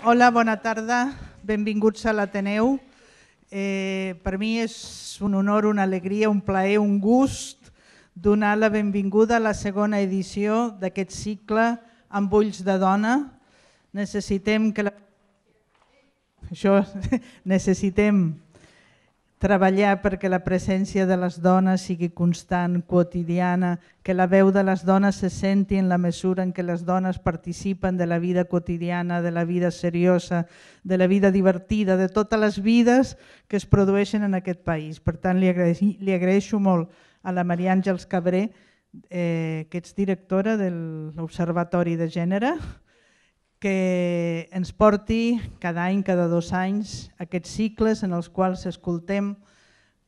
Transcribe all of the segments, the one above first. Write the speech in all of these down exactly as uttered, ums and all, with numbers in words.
Hola, bona tarda, benvinguts a l'Ateneu. Eh, per mi és un honor, una alegria, un plaer, un gust donar la benvinguda a la segona edició d'aquest cicle Amb ulls de dona. Necessitem que la... Això, necessitem treballar perquè la presència de les dones sigui constant, quotidiana, que la veu de les dones se senti en la mesura en què les dones participen de la vida quotidiana, de la vida seriosa, de la vida divertida, de totes les vides que es produeixen en aquest país. Per tant, li agraeixo, li agraeixo molt a la Maria Àngels Cabré, eh, que ets directora de l'Observatori de Gènere, que ens porti cada any, cada dos anys, aquests cicles en els quals escoltem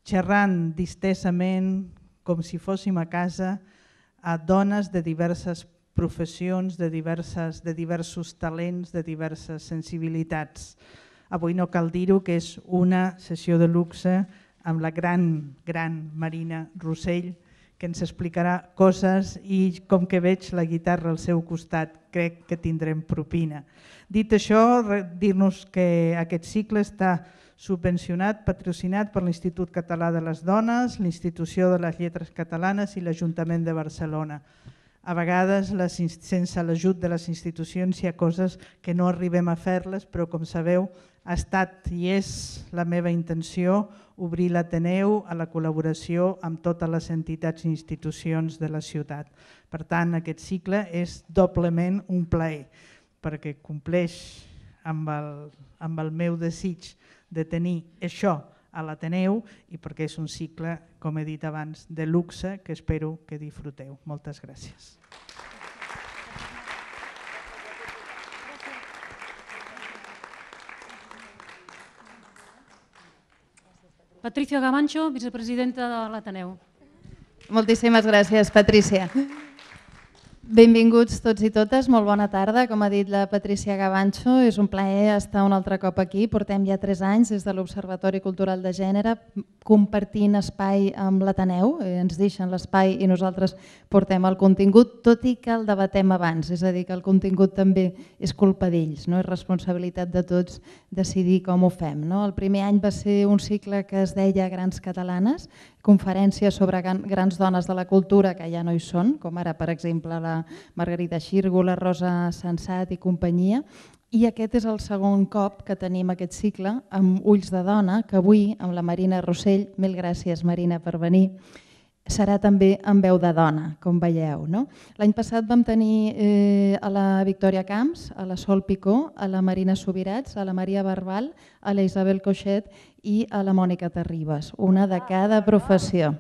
xerrant distesament, com si fóssim a casa, a dones de diverses professions, de, diverses, de diversos talents, de diverses sensibilitats. Avui no cal dir-ho, que és una sessió de luxe amb la gran, gran Marina Rossell, que ens explicarà coses i, com que veig la guitarra al seu costat, crec que tindrem propina. Dit això, dir-nos que aquest cicle està subvencionat, patrocinat per l'Institut Català de les Dones, l'Institució de les Lletres Catalanes i l'Ajuntament de Barcelona. A vegades, sense l'ajut de les institucions, hi ha coses que no arribem a fer-les, però com sabeu, ha estat i és la meva intenció obrir l'Ateneu a la col·laboració amb totes les entitats i institucions de la ciutat. Per tant, aquest cicle és doblement un plaer, perquè compleix amb el, amb el meu desig de tenir això a l'Ateneu i perquè és un cicle, com he dit abans, de luxe que espero que disfruteu. Moltes gràcies. Patricia Gavancho, vicepresidenta de l'Ateneu. Moltíssimes gràcies, Patrícia. Benvinguts tots i totes, molt bona tarda. Com ha dit la Patrícia Gavancho, és un plaer estar un altre cop aquí. Portem ja tres anys des de l'Observatori Cultural de Gènere compartint espai amb l'Ateneu. Ens deixen l'espai i nosaltres portem el contingut, tot i que el debatem abans. És a dir, que el contingut també és culpa d'ells, no? És responsabilitat de tots decidir com ho fem. El primer any va ser un cicle que es deia Grans Catalanes, conferències sobre grans dones de la cultura que ja no hi són, com ara, per exemple, la Margarida Xirgo, la Rosa Sensat i companyia. I aquest és el segon cop que tenim aquest cicle amb Ulls de Dona, que avui, amb la Marina Rossell, mil gràcies Marina per venir, serà també amb veu de dona, com veieu. L'any passat vam tenir a la Victòria Camps, a la Sol Picó, a la Marina Subirats, a la Maria Barbal, a la Isabel Coixet i a la Mònica Terribas, una de cada professió.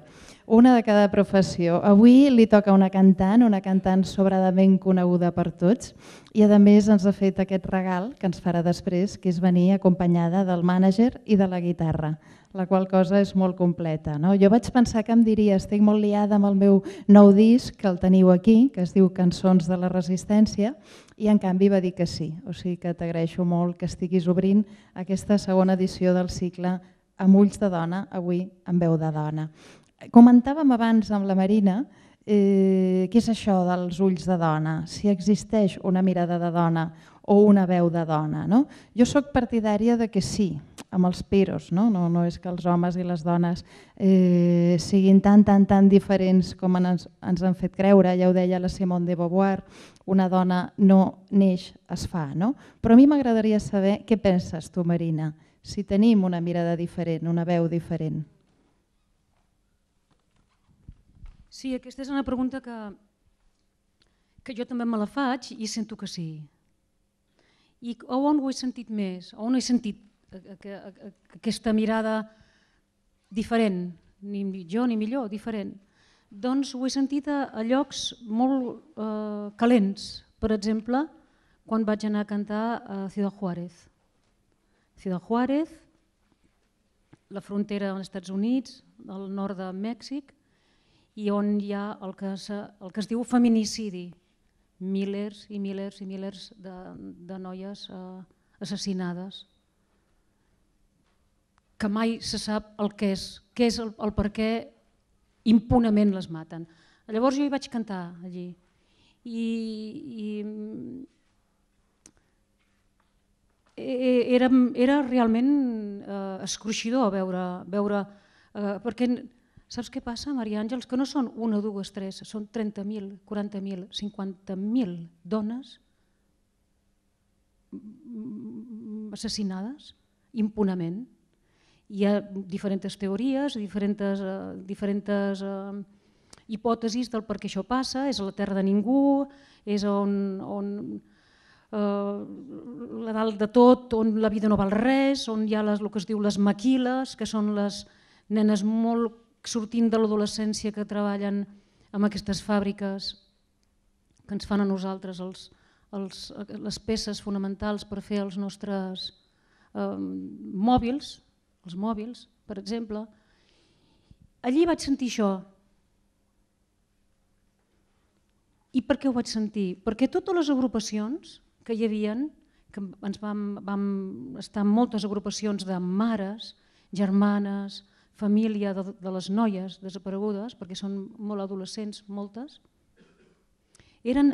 Una de cada professió. Avui li toca una cantant, una cantant sobradament coneguda per tots i a més ens ha fet aquest regal que ens farà després, que és venir acompanyada del mànager i de la guitarra, la qual cosa és molt completa. Jo vaig pensar que em diria, estic molt liada amb el meu nou disc, que el teniu aquí, que es diu Cançons de la Resistència, i en canvi va dir que sí. O sigui que t'agraeixo molt que estiguis obrint aquesta segona edició del cicle Amb ulls de dona, avui amb veu de dona. Comentàvem abans amb la Marina què és això dels ulls de dona, si existeix una mirada de dona o una veu de dona. Jo soc partidària de que sí, amb els peros, no és que els homes i les dones siguin tan, tan, tan diferents com ens han fet creure, ja ho deia la Simone de Beauvoir, una dona no neix, es fa. Però a mi m'agradaria saber què penses tu, Marina, si tenim una mirada diferent, una veu diferent. Sí, aquesta és una pregunta que jo també me la faig i sento que sí. I on ho he sentit més? On he sentit aquesta mirada diferent? Ni millor ni millor, diferent. Doncs ho he sentit a llocs molt calents. Per exemple, quan vaig anar a cantar a Ciudad Juárez. Ciudad Juárez, la frontera als Estats Units, al nord de Mèxic, i on hi ha el que es diu feminicidi, milers i milers i milers de noies assassinades, que mai se sap el que és, què és el per què impunament les maten. Llavors jo hi vaig cantar allí i era, era realment eh, escruixidor veure, veure eh, perquè saps què passa, Maria Àngels? Que no són una, dues, tres, són trenta mil, quaranta mil, cinquanta mil dones assassinades impunament. Hi ha diferents teories, diferents, uh, diferents uh, hipòtesis del per què això passa, és a la terra de ningú, és on, on uh, la dalt de tot, on la vida no val res, on hi ha les, el que es diu les maquiles, que són les nenes molt sortint de l'adolescència que treballen en aquestes fàbriques que ens fan a nosaltres els, els, les peces fonamentals per fer els nostres eh, mòbils, els mòbils, per exemple. Allí vaig sentir això. I per què ho vaig sentir? Perquè totes les agrupacions que hi havia, que ens vam, vam estar en moltes agrupacions de mares, germanes, família de, de les noies desaparegudes, perquè són molt adolescents, moltes, eren,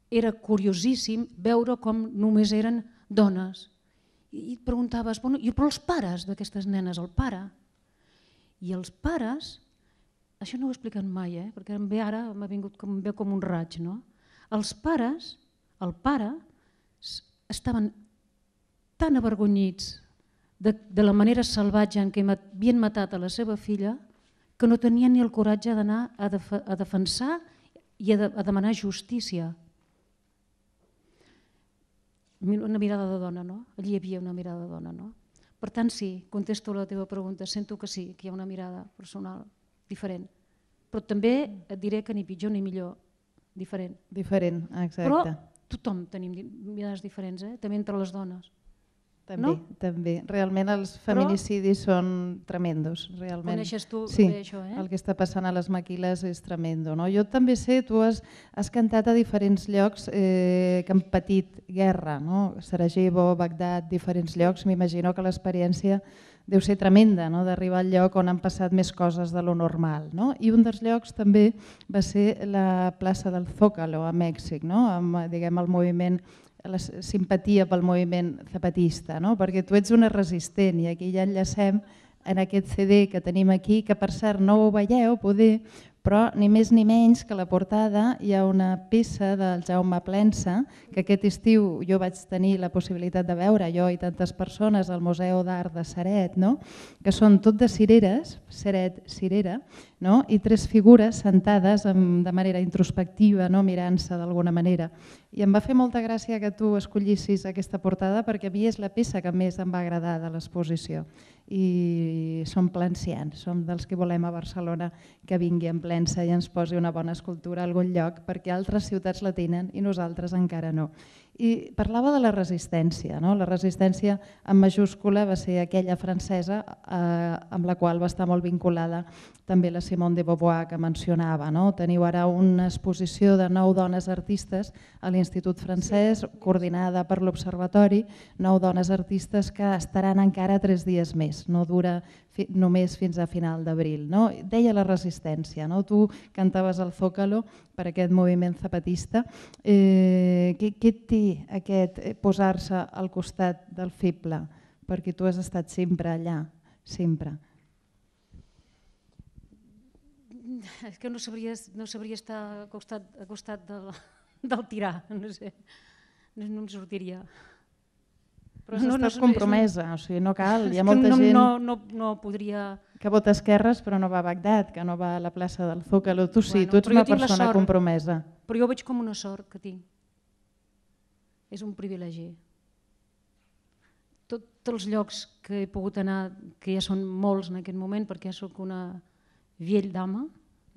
era curiosíssim veure com només eren dones. I et preguntaves, bueno, i però els pares d'aquestes nenes, el pare? I els pares, això no ho he explicat mai, eh? Perquè em ve ara, m'ha vingut com, ve com un raig, no? Els pares, el pare, estaven tan avergonyits de, de la manera salvatge en què havien matat a la seva filla que no tenien ni el coratge d'anar a, def a defensar i a, de a demanar justícia. Una mirada de dona, no? Allí hi havia una mirada de dona, no? Per tant, sí, contesto la teva pregunta, sento que sí, que hi ha una mirada personal diferent. Però també et diré que ni pitjor ni millor, diferent. Diferent, exacte. Però tothom tenim mirades diferents, eh? També entre les dones. També, no? també. Realment els feminicidis Però, són tremendos. Realment. Coneixes tu sí, bé això, eh? El que està passant a les maquiles és tremendo. No? Jo també sé, tu has, has cantat a diferents llocs eh, que han patit guerra, no? Sarajevo, Bagdad, diferents llocs. M'imagino que l'experiència deu ser tremenda, no? D'arribar al lloc on han passat més coses de lo normal. No? I un dels llocs també va ser la plaça del Zócalo a Mèxic, no? Amb, diguem, el moviment, la simpatia pel moviment zapatista, no? Perquè tu ets una resistent i aquí ja enllacem en aquest C D que tenim aquí, que per cert no ho veieu poder, però ni més ni menys que a la portada hi ha una peça del Jaume Plensa que aquest estiu jo vaig tenir la possibilitat de veure, jo i tantes persones al Museu d'Art de Ceret, no? Que són tot de cireres, Ceret, cirera, no? I tres figures sentades de manera introspectiva, no? Mirant-se d'alguna manera. I em va fer molta gràcia que tu escollissis aquesta portada perquè a mi és la peça que més em va agradar de l'exposició. I som plencians, som dels que volem a Barcelona que vingui en Plensa i ens posi una bona escultura a algun lloc perquè altres ciutats la tenen i nosaltres encara no. I parlava de la resistència, no? La resistència en majúscula va ser aquella francesa eh, amb la qual va estar molt vinculada també la Simone de Beauvoir que mencionava. No? Teniu ara una exposició de nou dones artistes a l'Institut Francès coordinada per l'Observatori, nou dones artistes que estaran encara tres dies més, no dura fi, només fins a final d'abril. No? Deia la resistència, no? Tu cantaves al Zócalo per aquest moviment zapatista. Eh, què, què té aquest eh, posar-se al costat del feble? Perquè tu has estat sempre allà, sempre. És que no sabria, no sabria estar al costat, al costat del, del tirà, no sé, no, no em sortiria. Però has no, estat no, compromesa, o sigui, no cal, hi ha molta no, gent no, no, no podria... que vota esquerres però no va a Bagdad, que no va a la plaça del Zócalo. Tu sí, bueno, tu ets una persona sort, compromesa. Però jo ho veig com una sort que tinc. És un privilegi. Tot, tots els llocs que he pogut anar, que ja són molts en aquest moment, perquè ja soc una vell dama,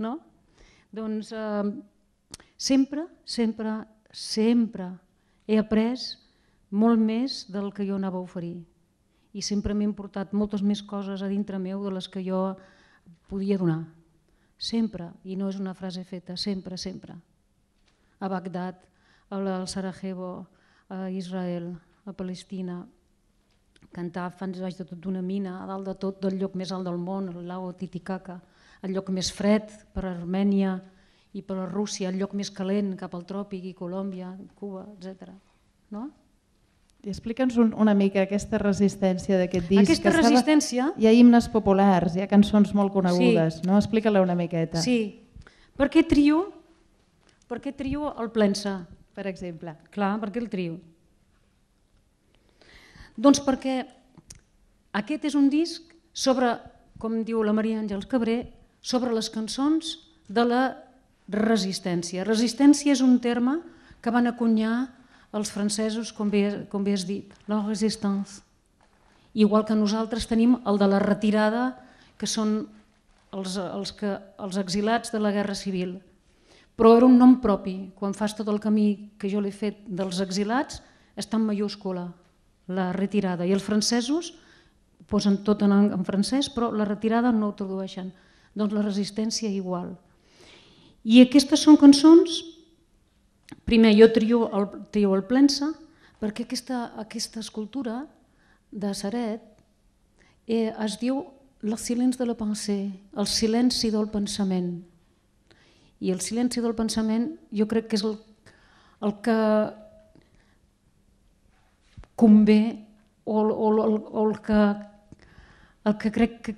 no? Doncs eh, sempre, sempre, sempre he après molt més del que jo anava a oferir. I sempre m'he importat moltes més coses a dintre meu de les que jo podia donar. Sempre, i no és una frase feta, sempre, sempre. A Bagdad, al Sarajevo, a Israel, a Palestina, cantar fans baix de tot d'una mina, a dalt de tot del lloc més alt del món, el lago Titicaca, el lloc més fred per a Armènia i per a Rússia, el lloc més calent cap al tròpic i Colòmbia, Cuba, etcètera. No? I explica'ns un, una mica aquesta resistència d'aquest disc. Aquesta que resistència... Hi ha himnes populars, hi ha cançons molt conegudes, sí. No? Explica-la una miqueta. Sí. Per què trio? Per què trio el Plensa? Per exemple. Clar, per què el trio? Doncs perquè aquest és un disc sobre, com diu la Maria Àngels Cabré, sobre les cançons de la resistència. Resistència és un terme que van acunyar els francesos, com bé, com bé has dit, la resistance. Igual que nosaltres tenim el de la retirada, que són els, els, que, els exilats de la Guerra Civil. Però era un nom propi. Quan fas tot el camí que jo l'he fet dels exilats, està en mayúscula, la retirada. I els francesos posen tot en, en francès, però la retirada no ho tradueixen. Doncs la resistència igual. I aquestes són cançons, primer jo trio el, trio el Plensa, perquè aquesta, aquesta escultura de Ceret eh, es diu le silence de la pensée, el silenci del pensament. I el silenci del pensament jo crec que és el, el que convé o, o, o, o el, que, el que crec que,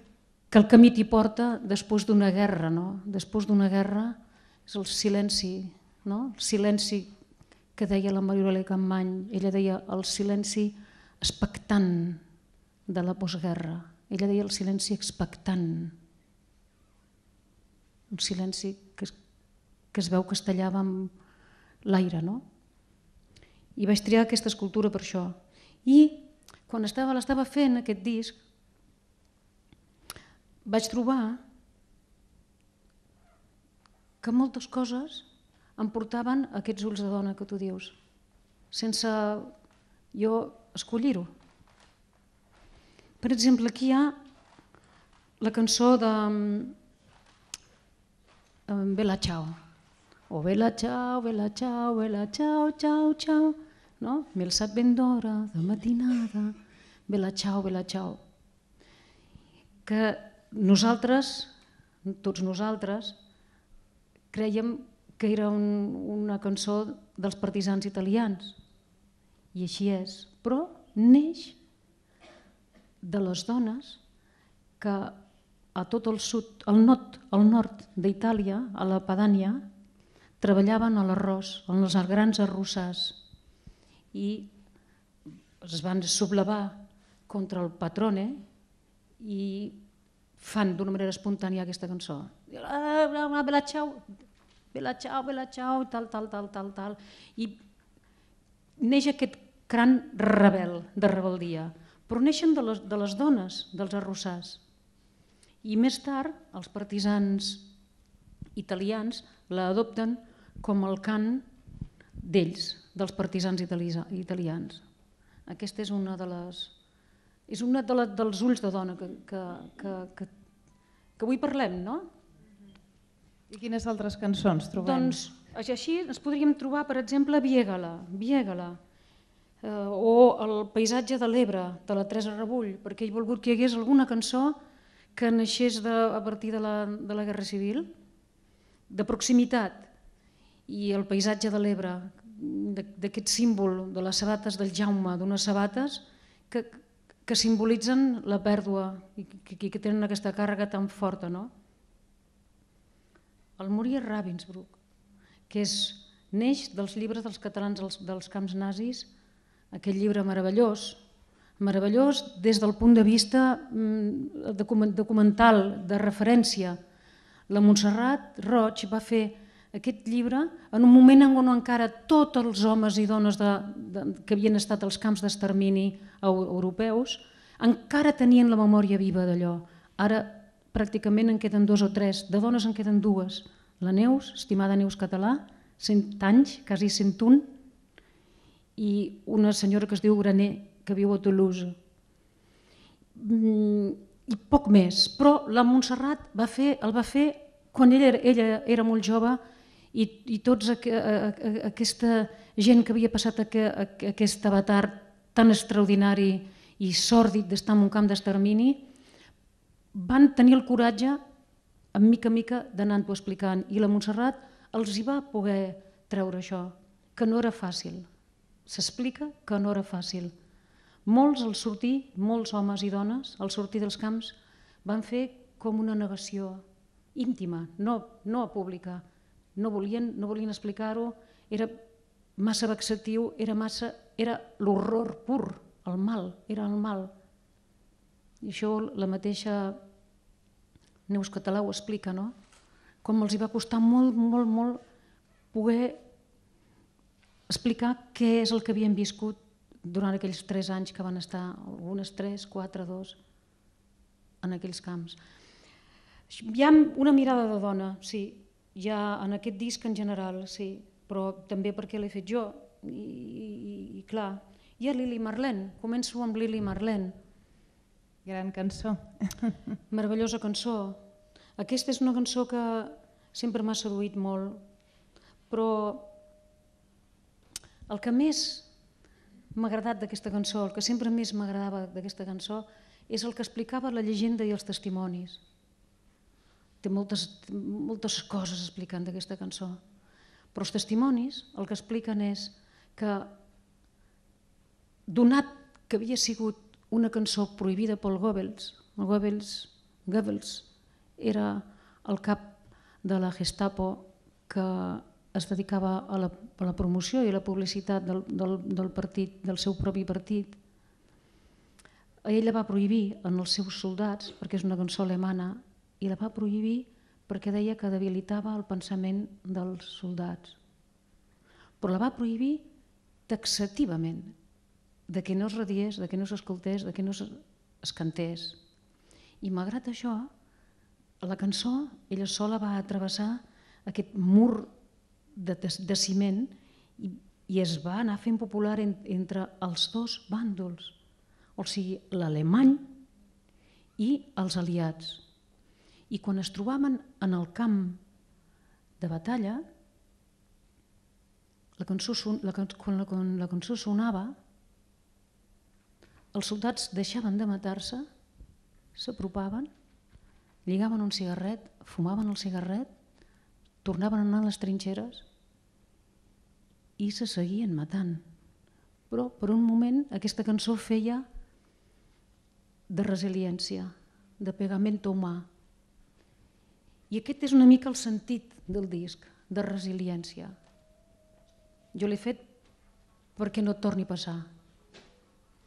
que el camí t'hi porta després d'una guerra. No? Després d'una guerra és el silenci, no? El silenci que deia la Maria Campmany. Ella deia el silenci expectant de la postguerra. Ella deia el silenci expectant. Un silenci que es que es veu que es tallava amb l'aire, no? I vaig triar aquesta escultura per això. I quan estava, l'estava fent, aquest disc, vaig trobar que moltes coses em portaven a aquests ulls de dona que tu dius, sense jo escollir-ho. Per exemple, aquí hi ha la cançó de Bella Ciao. O Bella Ciao, Bella Ciao, Bella Ciao, Ciao, Ciao, no? M'he alçat ben d'hora, de matinada, Bella Ciao, Bella Ciao. Que nosaltres, tots nosaltres, crèiem que era un, una cançó dels partisans italians, i així és, però neix de les dones que a tot el sud, al nord, al nord d'Itàlia, a la Padània, treballaven a l'arròs, en els grans arrossars, i es van sublevar contra el patrone i fan d'una manera espontània aquesta cançó. Bella ciao, bella ciao, bella ciao, tal, tal, tal, tal, tal. I neix aquest cran rebel, de rebeldia, però neixen de les, de les dones, dels arrossars. I més tard, els partisans italians l'adopten com el cant d'ells, dels partisans italians. Aquesta és una de les... És una de les, dels ulls de dona que, que, que, que, que avui parlem, no? I quines altres cançons trobem? Doncs així ens podríem trobar, per exemple, Viégala, Viégala, eh, o El paisatge de l'Ebre, de la Teresa Rebull, perquè he volgut que hi hagués alguna cançó que naixés de, a partir de la, de la Guerra Civil, de proximitat, i el paisatge de l'Ebre, d'aquest símbol de les sabates del Jaume, d'unes sabates que, que simbolitzen la pèrdua i que, que tenen aquesta càrrega tan forta. No? El Morir Ravensbrück, que és, neix dels llibres dels catalans dels, dels camps nazis, aquest llibre meravellós, meravellós des del punt de vista documental, de referència. La Montserrat Roig va fer aquest llibre en un moment en què encara tots els homes i dones de, de, que havien estat als camps d'extermini europeus encara tenien la memòria viva d'allò. Ara pràcticament en queden dos o tres, de dones en queden dues. La Neus, estimada Neus Català, cent anys, quasi cent un, i una senyora que es diu Graner, que viu a Toulouse. I poc més, però la Montserrat va fer, el va fer quan ella, ella era molt jove i, i tots aqu aquesta gent que havia passat aqu aquest avatar tan extraordinari i sòrdid d'estar en un camp d'extermini van tenir el coratge, en mica en mica, d'anar-ho explicant. I la Montserrat els hi va poder treure això, que no era fàcil. s'explica que no era fàcil. Molts al sortir, molts homes i dones, al sortir dels camps, van fer com una negació íntima, no, no pública. No volien, no volien explicar-ho, era massa vexatiu, era massa, era l'horror pur, el mal, era el mal. I això la mateixa Neus Català ho explica, no? Com els hi va costar molt, molt, molt poder explicar què és el que havien viscut durant aquells tres anys que van estar, algunes tres, quatre, dos, en aquells camps. Hi ha una mirada de dona, sí, hi ha en aquest disc en general, sí, però també perquè l'he fet jo, i, i, i clar, hi ha Lili Marlene, començo amb Lili Marlene. Gran cançó. Meravellosa cançó. Aquesta és una cançó que sempre m'ha seduït molt, però el que més m'ha agradat d'aquesta cançó, el que sempre més m'agradava d'aquesta cançó, és el que explicava la llegenda i els testimonis. Té moltes, moltes coses explicant d'aquesta cançó, però els testimonis el que expliquen és que, donat que havia sigut una cançó prohibida pel Goebbels, el Goebbels, Goebbels era el cap de la Gestapo que es dedicava a la, a la promoció i a la publicitat del, del, del partit, del seu propi partit. Ell la va prohibir en els seus soldats, perquè és una cançó alemana, i la va prohibir perquè deia que debilitava el pensament dels soldats. Però la va prohibir taxativament, de que no es radiés, de que no s'escoltés, de que no es cantés. I malgrat això, la cançó, ella sola va travessar aquest mur de, de ciment i, i es va anar fent popular en, entre els dos bàndols, o sigui, l'alemany i els aliats. I quan es trobaven en el camp de batalla, la cançó, la, quan, la, quan la cançó sonava, els soldats deixaven de matar-se, s'apropaven, lligaven un cigarret, fumaven el cigarret, tornaven a anar a les trinxeres i se seguien matant. Però per un moment aquesta cançó feia de resiliència, de pegamento humà. I aquest és una mica el sentit del disc, de resiliència. Jo l'he fet perquè no torni a passar.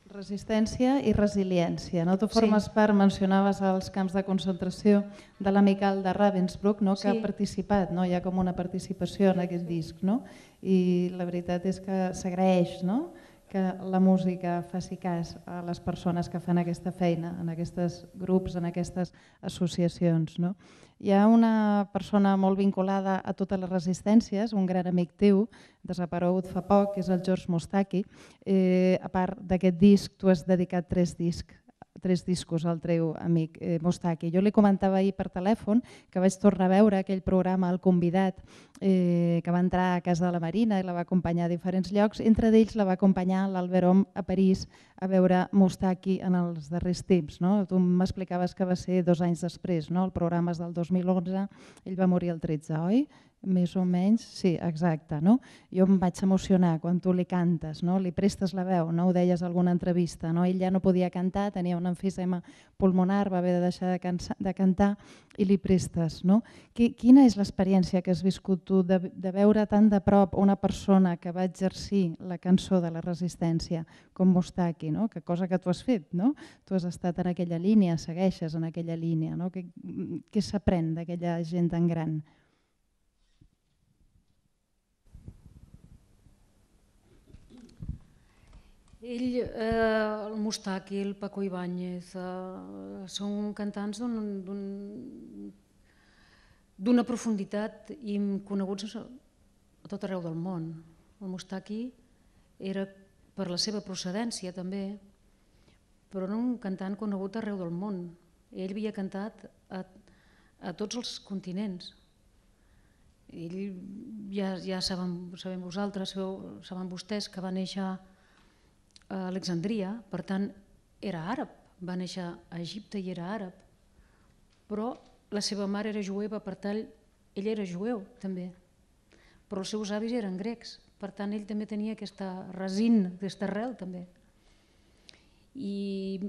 Resistència i resiliència. No? Tu formes sí. part, mencionaves els camps de concentració de l'amical de Ravensbrück, no? que sí. ha participat, no? Hi ha com una participació en aquest disc. No? I la veritat és que s'agraeix, no? que la música faci cas a les persones que fan aquesta feina, en aquests grups, en aquestes associacions. No? Hi ha una persona molt vinculada a totes les resistències, un gran amic teu, desaparegut fa poc, que és el George Moustaki. Eh, a part d'aquest disc, tu has dedicat tres discs, tres discos al teu amic eh, Moustaki. Jo li comentava ahir per telèfon que vaig tornar a veure aquell programa El Convidat, eh, que va entrar a casa de la Marina i la va acompanyar a diferents llocs. Entre d'ells la va acompanyar l'Albert Om a París a veure Moustaki en els darrers temps. No? Tu m'explicaves que va ser dos anys després, no? El programa és del dos mil onze, ell va morir el tretze, oi? Més o menys, sí, exacte. No? Jo em vaig emocionar quan tu li cantes, no? Li prestes la veu, no? Ho deies a alguna entrevista. No? Ell ja no podia cantar, tenia un emfisema pulmonar, va haver de deixar de, cansa, de cantar i li prestes. No? Quina és l'experiència que has viscut tu de, de veure tan de prop una persona que va exercir la cançó de la resistència com Moustaki, no? Que cosa que tu has fet, no? Tu has estat en aquella línia, segueixes en aquella línia. No? Què, què s'aprèn d'aquella gent tan gran? Ell, eh, el Moustaki, el Paco Ibáñez, eh, són cantants d'una profunditat i coneguts a tot arreu del món. El Moustaki era, per la seva procedència també, però era un cantant conegut arreu del món. Ell havia cantat a, a tots els continents. Ell, ja, ja saben, sabem vosaltres, saben vostès que va néixer a Alexandria, per tant era àrab, va néixer a Egipte i era àrab, però la seva mare era jueva, per tant ell era jueu també, però els seus avis eren grecs, Per tant, ell també tenia aquesta resina, aquesta arrel també. I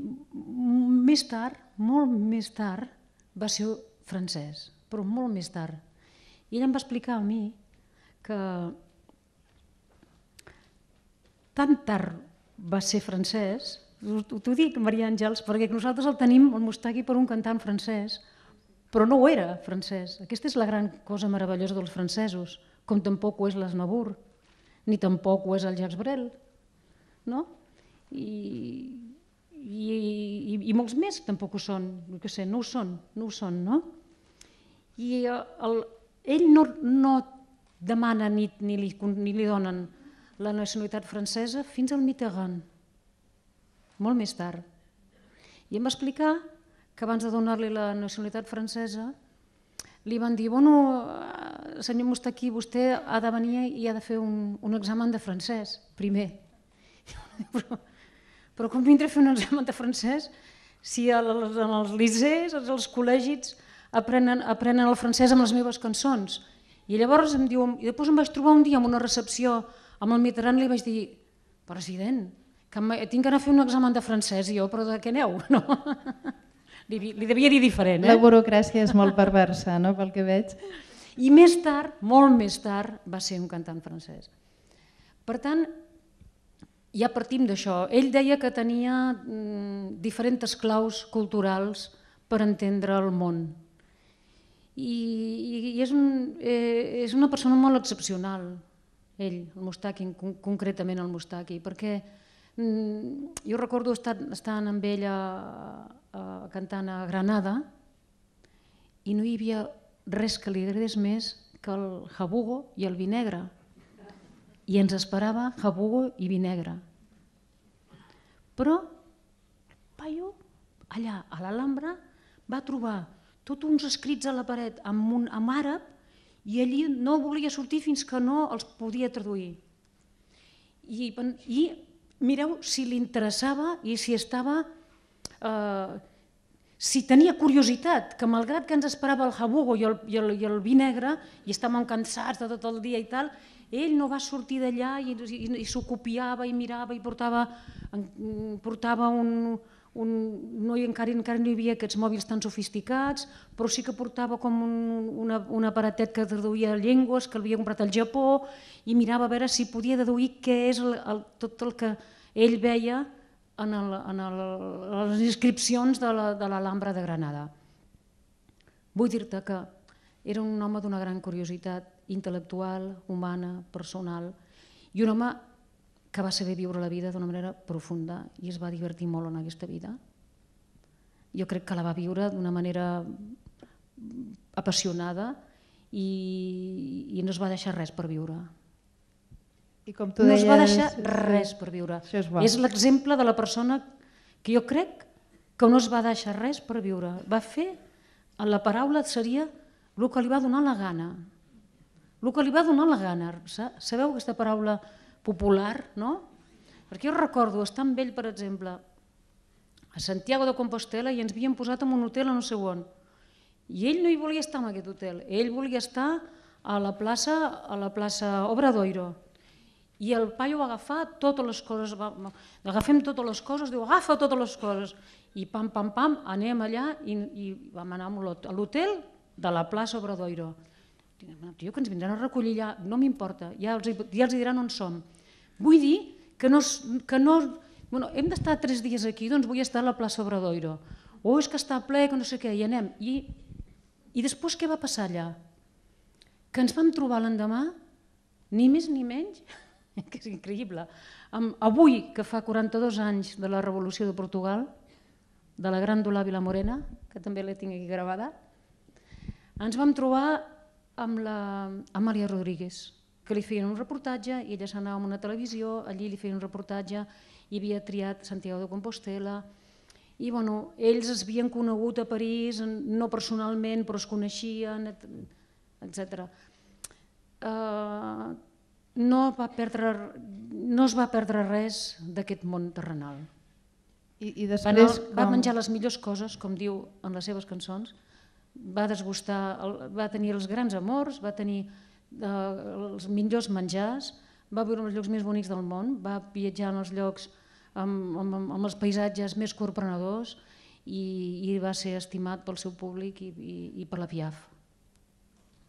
més tard, molt més tard, va ser francès, però molt més tard. I ell em va explicar a mi que tan tard va ser francès, t'ho dic, Maria Àngels, perquè nosaltres el tenim, el Moustaki, per un cantant francès, però no ho era francès. Aquesta és la gran cosa meravellosa dels francesos, com tampoc ho és l'Aznavour, ni tampoc ho és el Jacques Brel, no? I, i, i molts més tampoc ho són, no, sé, no ho són, no ho són, no? I el, ell no, no demana ni, ni, li, ni li donen la nacionalitat francesa fins al Mitterrand, molt més tard. I em va explicar que abans de donar-li la nacionalitat francesa li van dir, bueno, senyor Moustaki, vostè ha de venir i ha de fer un, un examen de francès, primer. Però, però com vindré a fer un examen de francès si en els liceus, als col·legis, aprenen, aprenen el francès amb les meves cançons? I llavors em diu, i després em vaig trobar un dia en una recepció amb el Mitterrand i li vaig dir, president, que tinc que anar a fer un examen de francès, i jo, però de què aneu? No? Li, li devia dir diferent. Eh? La burocràcia és molt perversa, no?, pel que veig. I més tard, molt més tard, va ser un cantant francès. Per tant, ja partim d'això. Ell deia que tenia mm, diferents claus culturals per entendre el món. I, i és, un, eh, és una persona molt excepcional, ell, el Moustaki, concretament el Moustaki, perquè mm, jo recordo estar, estant amb ell a, a, cantant a Granada i no hi havia res que li agradés més que el jabugo i el vi negre. I ens esperava jabugo i vi negre. Però el paio, allà a l'Alhambra, va trobar tots uns escrits a la paret amb, un, amb àrab i allí no volia sortir fins que no els podia traduir. I, i mireu si li interessava i si estava... Eh, si tenia curiositat, que malgrat que ens esperava el jabugo i el, i el, i el vi negre i estàvem cansats de tot el dia i tal, ell no va sortir d'allà i, i, i s'ho copiava i mirava i portava, portava un... un no, encara, encara no hi havia aquests mòbils tan sofisticats, però sí que portava com un, una, un aparatet que traduïa llengües, que l'havia comprat al Japó, i mirava a veure si podia deduir què és el, el, tot el que ell veia en, el, en el, les inscripcions de l'Alhambra de, de Granada. Vull dir-te que era un home d'una gran curiositat intel·lectual, humana, personal, i un home que va saber viure la vida d'una manera profunda i es va divertir molt en aquesta vida. Jo crec que la va viure d'una manera apassionada i, i no es va deixar res per viure. I com tu no deies, es va deixar res per viure. És, és l'exemple de la persona que jo crec que no es va deixar res per viure. Va fer, en la paraula seria el que li va donar la gana. El que li va donar la gana. Sabeu aquesta paraula popular, no? Perquè jo recordo estar amb ell, per exemple, a Santiago de Compostela i ens havíem posat en un hotel a no sé on. I ell no hi volia estar en aquest hotel. Ell volia estar a la plaça, a la plaça Obradoiro. I el paio va agafar totes les coses, va, agafem totes les coses, diu, agafa totes les coses. I pam, pam, pam, anem allà i, i vam anar a l'hotel de la plaça Obradoiro. Tio, que ens vindran a recollir allà, no m'importa, ja els, ja els diran on som. Vull dir que no... Que no bueno, hem d'estar tres dies aquí, doncs vull estar a la plaça Obradoiro. O és que està ple, que no sé què, i anem. I, i després què va passar allà? Que ens vam trobar l'endemà, ni més ni menys, que és increïble, amb, avui, que fa quaranta-dos anys de la Revolució de Portugal, de la Gran Dolà Vilamorena, que també la tinc aquí gravada, ens vam trobar amb la Amàlia Rodríguez, que li feien un reportatge i ella s'anava a una televisió, allí li feien un reportatge, i havia triat Santiago de Compostela, i bueno, ells es havien conegut a París, no personalment, però es coneixien, etcètera. Uh, no, va perdre, no es va perdre res d'aquest món terrenal. I, i després, va, va menjar les millors coses, com diu en les seves cançons, va desgustar, va tenir els grans amors, va tenir eh, els millors menjars, va viure en els llocs més bonics del món, va viatjar en els llocs amb, amb, amb els paisatges més corprenedors i, i va ser estimat pel seu públic i, i, i per la Piaf.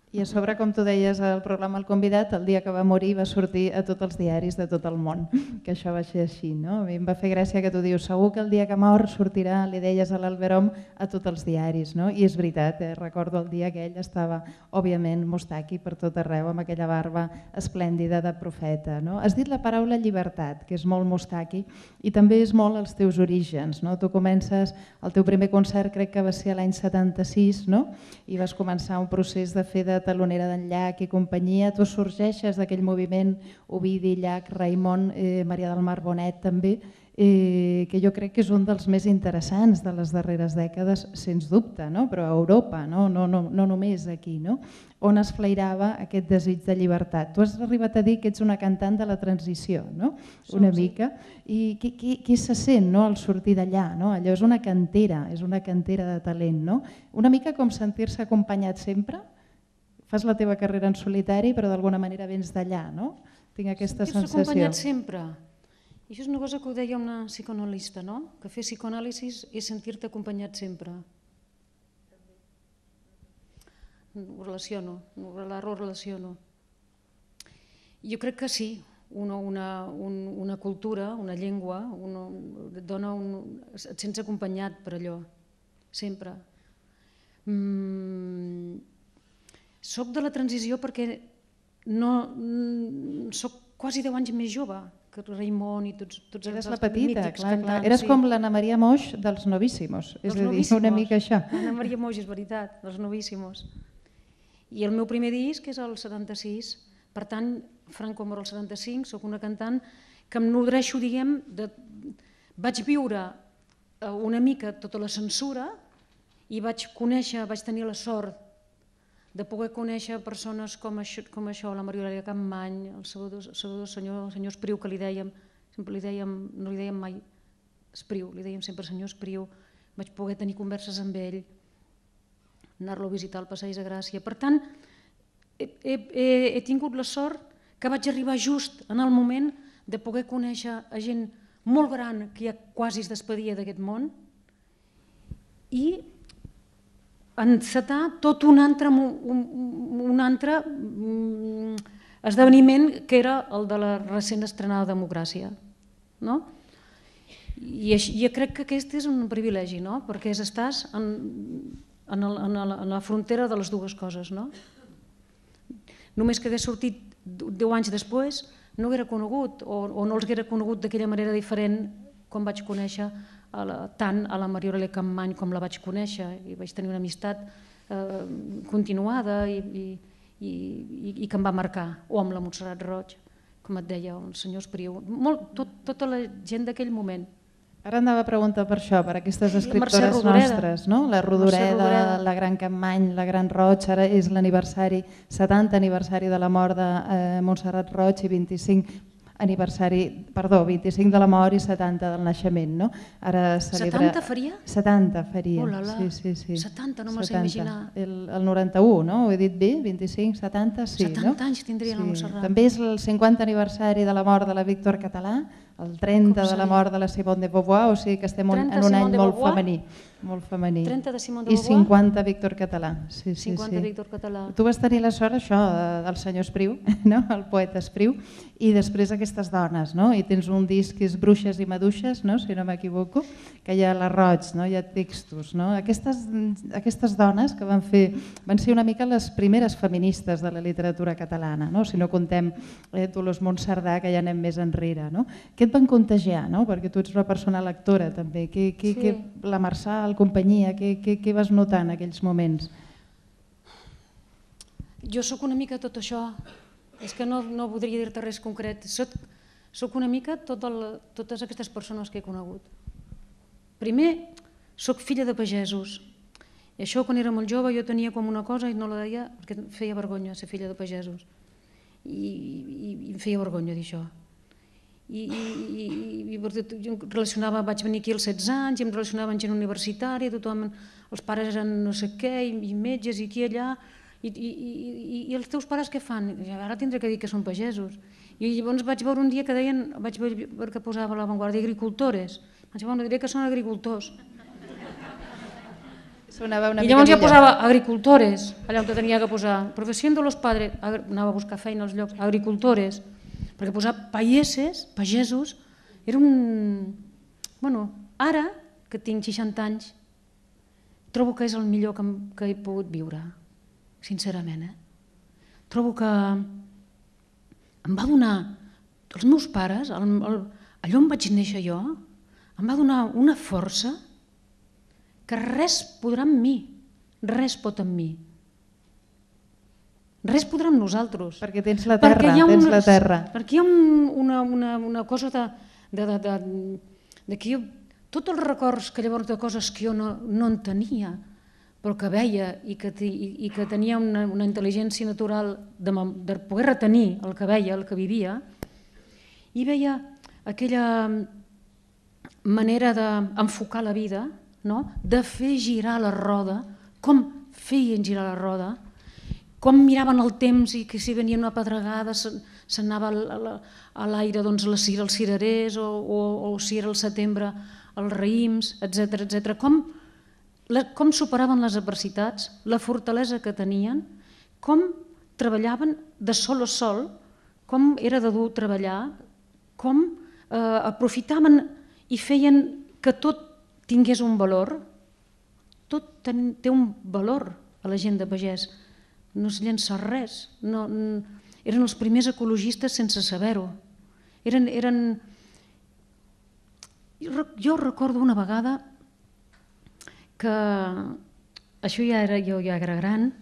I a sobre, com tu deies al programa El Convidat, el dia que va morir va sortir a tots els diaris de tot el món, que això va ser així, no? A mi em va fer gràcia que tu dius, segur que el dia que mor sortirà, li deies a l'Alberom, a tots els diaris, no? I és veritat, eh? Recordo el dia que ell estava, òbviament, mustaqui per tot arreu, amb aquella barba esplèndida de profeta, no? Has dit la paraula llibertat, que és molt mustaqui, i també és molt els teus orígens, no? Tu comences, el teu primer concert crec que va ser l'any setanta-sis, no? I vas començar un procés de fer de talonera d'en Llach i companyia, tu sorgeixes d'aquell moviment Ovidi, Llach, Raimon, eh, Maria del Mar Bonet també, eh, que jo crec que és un dels més interessants de les darreres dècades, sens dubte, no? Però a Europa, no, no, no, no només aquí, no? On es flairava aquest desig de llibertat. Tu has arribat a dir que ets una cantant de la transició, no? Una mica. I què, què, què se sent, no? Al sortir d'allà, no? Allò és una cantera, és una cantera de talent, no? Una mica com sentir-se acompanyat sempre. Fas la teva carrera en solitari, però d'alguna manera vens d'allà, no? Tinc aquesta sensació. Sentir-se acompanyat sempre. I això és una cosa que ho deia una psicoanalista, no? Que fer psicoanàlisis és sentir-te acompanyat sempre. Ho relaciono, ho relaciono. Jo crec que sí, una, una, un, una cultura, una llengua, una, et dona un, et sents acompanyat per allò, sempre. Mm, soc de la transició perquè no, soc quasi deu anys més jove que Raimon i tots, tots els Eres la petita, mítics clar, clar. cantants. Eres sí. com l'Anna Maria Moix dels Novíssimos, és a dir, una mica això. Anna Maria Moix, és veritat, dels Novíssimos. I el meu primer disc és el setanta-sis, per tant, Franco mor el setanta-cinc, soc una cantant que em nodreixo, diguem, de... vaig viure una mica tota la censura i vaig conèixer, vaig tenir la sort de poder conèixer persones com això, com això la Mariolàlia Campmany, el Salvador, Salvador senyor, el senyor Espriu, que li dèiem, sempre li dèiem, no li dèiem mai Espriu, li dèiem sempre senyor Espriu, vaig poder tenir converses amb ell, anar-lo a visitar al Passeig de Gràcia. Per tant, he, he, he tingut la sort que vaig arribar just en el moment de poder conèixer a gent molt gran que ja quasi es despedia d'aquest món i encetar tot un altre, un, un altre esdeveniment que era el de la recent estrenada Democràcia. No? I jo crec que aquest és un privilegi, no? Perquè estàs en, en, el, en, el, en la frontera de les dues coses. No? Només que hagués sortit deu anys després no haguera conegut o, o no els haguera conegut d'aquella manera diferent com vaig conèixer a la, tant a la Mariolàlia Campmany com la vaig conèixer i vaig tenir una amistat eh, continuada i, i, i, i que em va marcar, o amb la Montserrat Roig, com et deia, el senyor Espriu, molt, tot, tota la gent d'aquell moment. Ara anava a preguntar per això, per aquestes escriptores nostres, no? La Rodoreda, la Gran Campmany, la Gran Roig, ara és l'aniversari, setanta aniversari de la mort de eh, Montserrat Roig i vint-i-cinc aniversari, perdó, vint-i-cinc de la mort i setanta del naixement, no? Ara celebra... setanta faria? setanta faria, oh, la, la. sí, sí, sí. setanta, no me'l sé imaginar. El, el noranta-u, no? Ho he dit bé? vint-i-cinc, setanta, sí, setanta no? anys tindria sí. la Montserrat. També és el cinquanta aniversari de la mort de la Víctor Català, el trenta de la mort de la Simone de Beauvoir, o sigui que estem en un any molt femení. Molt femení. trenta de Simone de I Beauvoir. cinquanta Víctor Català. Sí, sí, cinquanta sí. Víctor Català. Tu vas tenir la sort, això, del senyor Espriu, no? El poeta Espriu, i després aquestes dones, no? I tens un disc que és Bruixes i Maduixes, no? Si no m'equivoco, que hi ha la Roig, no? Hi ha textos. No? Aquestes, aquestes dones que van fer, van ser una mica les primeres feministes de la literatura catalana, no? Si no contem eh, Dolors Monserdà, que ja anem més enrere. No? Què et van contagiar? No? Perquè tu ets una persona lectora també. Que, que, sí. que, la Marçal, companyia, què, què, què vas notar en aquells moments? Jo sóc una mica tot això, és que no, no podria dir-te res concret, soc, soc una mica tot el, totes aquestes persones que he conegut. Primer, soc filla de pagesos, i això quan era molt jove jo tenia com una cosa i no la deia perquè em feia vergonya ser filla de pagesos, i, i, i em feia vergonya dir això. I, i, i, i jo em relacionava, vaig venir aquí als setze anys i em relacionava amb gent universitària, tothom, els pares eren no sé què, i, i metges i aquí allà, i, i, i, i els teus pares què fan? I ara tindré que dir que són pagesos. I llavors vaig veure un dia que deien, vaig veure que posava a l'avantguàrdia agricultores. Vaig dir, bueno, diré que són agricultors. Sonava una I mica llavors ja millor. posava agricultores, allà on tenia que posar. Professió de los padres, anava a buscar feina als llocs, agricultores, perquè posar paieses, pagesos, era un... Bueno, ara, que tinc seixanta anys, trobo que és el millor que, que he pogut viure, sincerament. Eh? Trobo que em va donar, els meus pares, el, el, allò on vaig néixer jo, em va donar una força que res podrà amb mi, res pot amb mi. Res podrà amb nosaltres. Perquè tens la terra, tens la terra. Perquè hi ha un, una, una, una cosa de, de, de, de, de que jo, tots els records que llavors de coses que jo no, no en tenia, però que veia i que, i, i que tenia una, una intel·ligència natural de, de poder retenir el que veia, el que vivia, i veia aquella manera d'enfocar la vida, no? De fer girar la roda, com feien girar la roda, com miraven el temps i que si venia una pedregada s'anava a l'aire doncs, els cirerers o, o, o si era el setembre els raïms, etcètera etcètera. Com, com superaven les adversitats, la fortalesa que tenien, com treballaven de sol a sol, com era de dur treballar, com eh, aprofitaven i feien que tot tingués un valor. Tot ten, té un valor a la gent de pagès. No es llença res. No, eren els primers ecologistes sense saber-ho. Eren, eren... Jo recordo una vegada que, això ja era, jo ja era gran,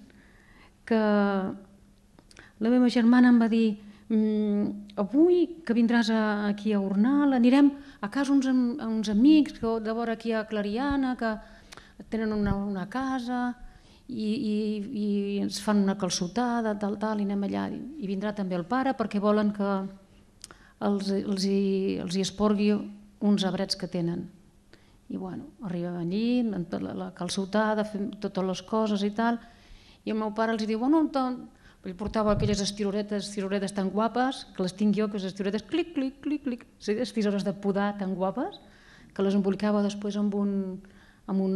que la meva germana em va dir mm, avui que vindràs a, aquí a Gornal, anirem a casa uns, uns amics que de vora aquí a Clariana, que tenen una, una casa i, i, i ens fan una calçotada, tal, tal, i anem allà. I vindrà també el pare perquè volen que els, els, hi, els hi esporgui uns arbrets que tenen. I bueno, arribem allí, la, la calçotada, fem totes les coses i tal, i el meu pare els diu, bueno, ell portava aquelles estiroretes, estiroretes tan guapes, que les tinc jo, que les estiroretes, clic, clic, clic, clic, les tisores de podar tan guapes, que les embolicava després amb un, amb un,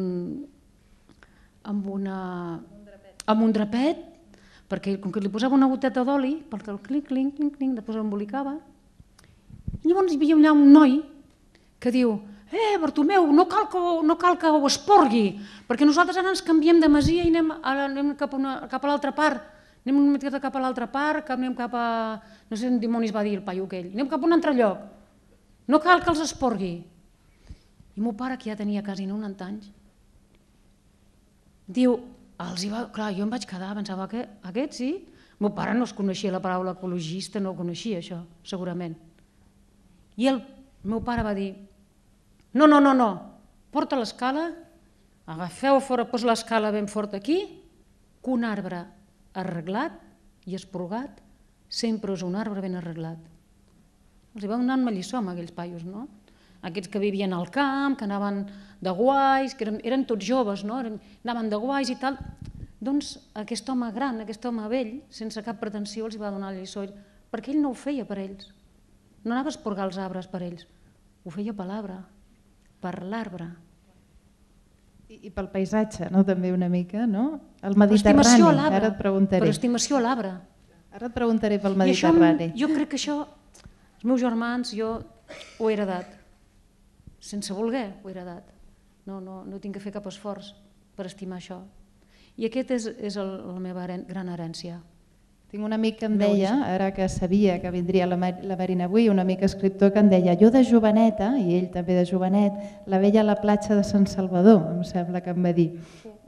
amb una, amb un drapet, perquè com que li posava una goteta d'oli, perquè el clic, clic, clic, clic, després l'embolicava. I llavors hi havia allà un noi que diu, eh, Bartomeu, no cal que, no cal que ho esporgui, perquè nosaltres ara ens canviem de masia i anem, anem cap, una, cap a l'altra part, anem una miqueta cap a l'altra part, anem cap a... no sé on dimonis va dir el paio aquell, anem cap a un altre lloc, no cal que els esporgui. I el meu pare, que ja tenia quasi noranta anys, diu, els hi va... clar, jo em vaig quedar, pensava que aquest sí, el meu pare no es coneixia la paraula ecologista, no coneixia això, segurament. I el meu pare va dir, no, no, no, no, porta l'escala, agafeu fora, posa l'escala ben fort aquí, que un arbre arreglat i esporgat sempre és un arbre ben arreglat. Els hi va donar una lliçó amb aquells paios, no? Aquests que vivien al camp, que anaven de guais, que eren, eren tots joves, no? Anaven de guais i tal. Doncs aquest home gran, aquest home vell, sense cap pretensió, els hi va donar la lliçó, perquè ell no ho feia per ells. No anava a esporgar els arbres per ells, ho feia per l'arbre, per l'arbre. I pel paisatge, no? També una mica, no? El Mediterrani, ara et preguntaré. Per estimació a l'arbre. Ara et preguntaré pel Mediterrani. Jo crec que això, els meus germans, jo ho he heredat. Sense voler ho he heredat. No, no, no tinc que fer cap esforç per estimar això. I aquest és, és el, la meva gran herència. Tinc un amic que em deia, ara que sabia que vindria la Marina avui, un amic escriptor que em deia, jo de joveneta, i ell també de jovenet, la veia a la platja de Sant Salvador, em sembla que em va dir,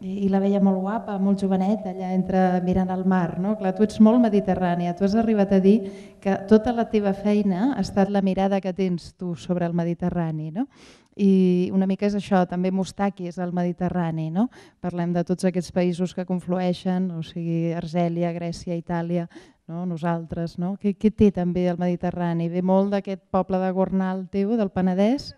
i la veia molt guapa, molt jovenet, allà entre mirant el mar. No? Clar, tu ets molt mediterrània, tu has arribat a dir que tota la teva feina ha estat la mirada que tens tu sobre el Mediterrani, no? I una mica és això, també Mustaki és el Mediterrani, no? Parlem de tots aquests països que conflueixen, o sigui, Argèlia, Grècia, Itàlia, no? Nosaltres, no? Què, què té també el Mediterrani? Ve molt d'aquest poble de Gornal teu, del Penedès?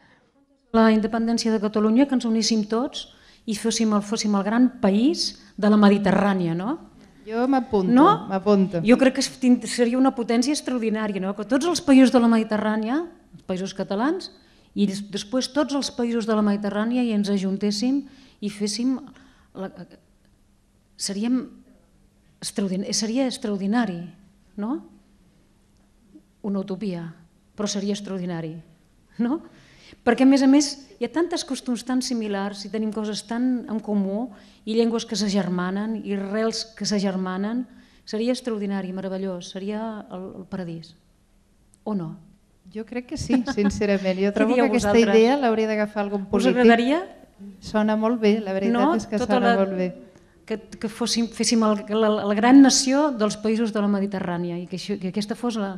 La independència de Catalunya, que ens uníssim tots i fóssim el, fóssim el gran país de la Mediterrània, no? Jo m'apunto, no? m'apunto. Jo crec que seria una potència extraordinària, no? Que tots els països de la Mediterrània, els països catalans, i després tots els països de la Mediterrània i ens ajuntéssim i féssim... La... Seríem extraordinari, seria extraordinari, no? Una utopia, però seria extraordinari, no? Perquè, a més a més, hi ha tantes costums tan similars i tenim coses tan en comú i llengües que s'agermanen i rels que s'agermanen, seria extraordinari, meravellós, seria el, el paradís. O no? Jo crec que sí, sincerament. Jo trobo que aquesta vosaltres? idea l'hauria d'agafar algun polític. Us agradaria? Sona molt bé, la veritat no? és que Tota sona la... molt bé. Que, que fóssim, féssim el, la, la gran nació dels països de la Mediterrània i que, això, que aquesta fos la,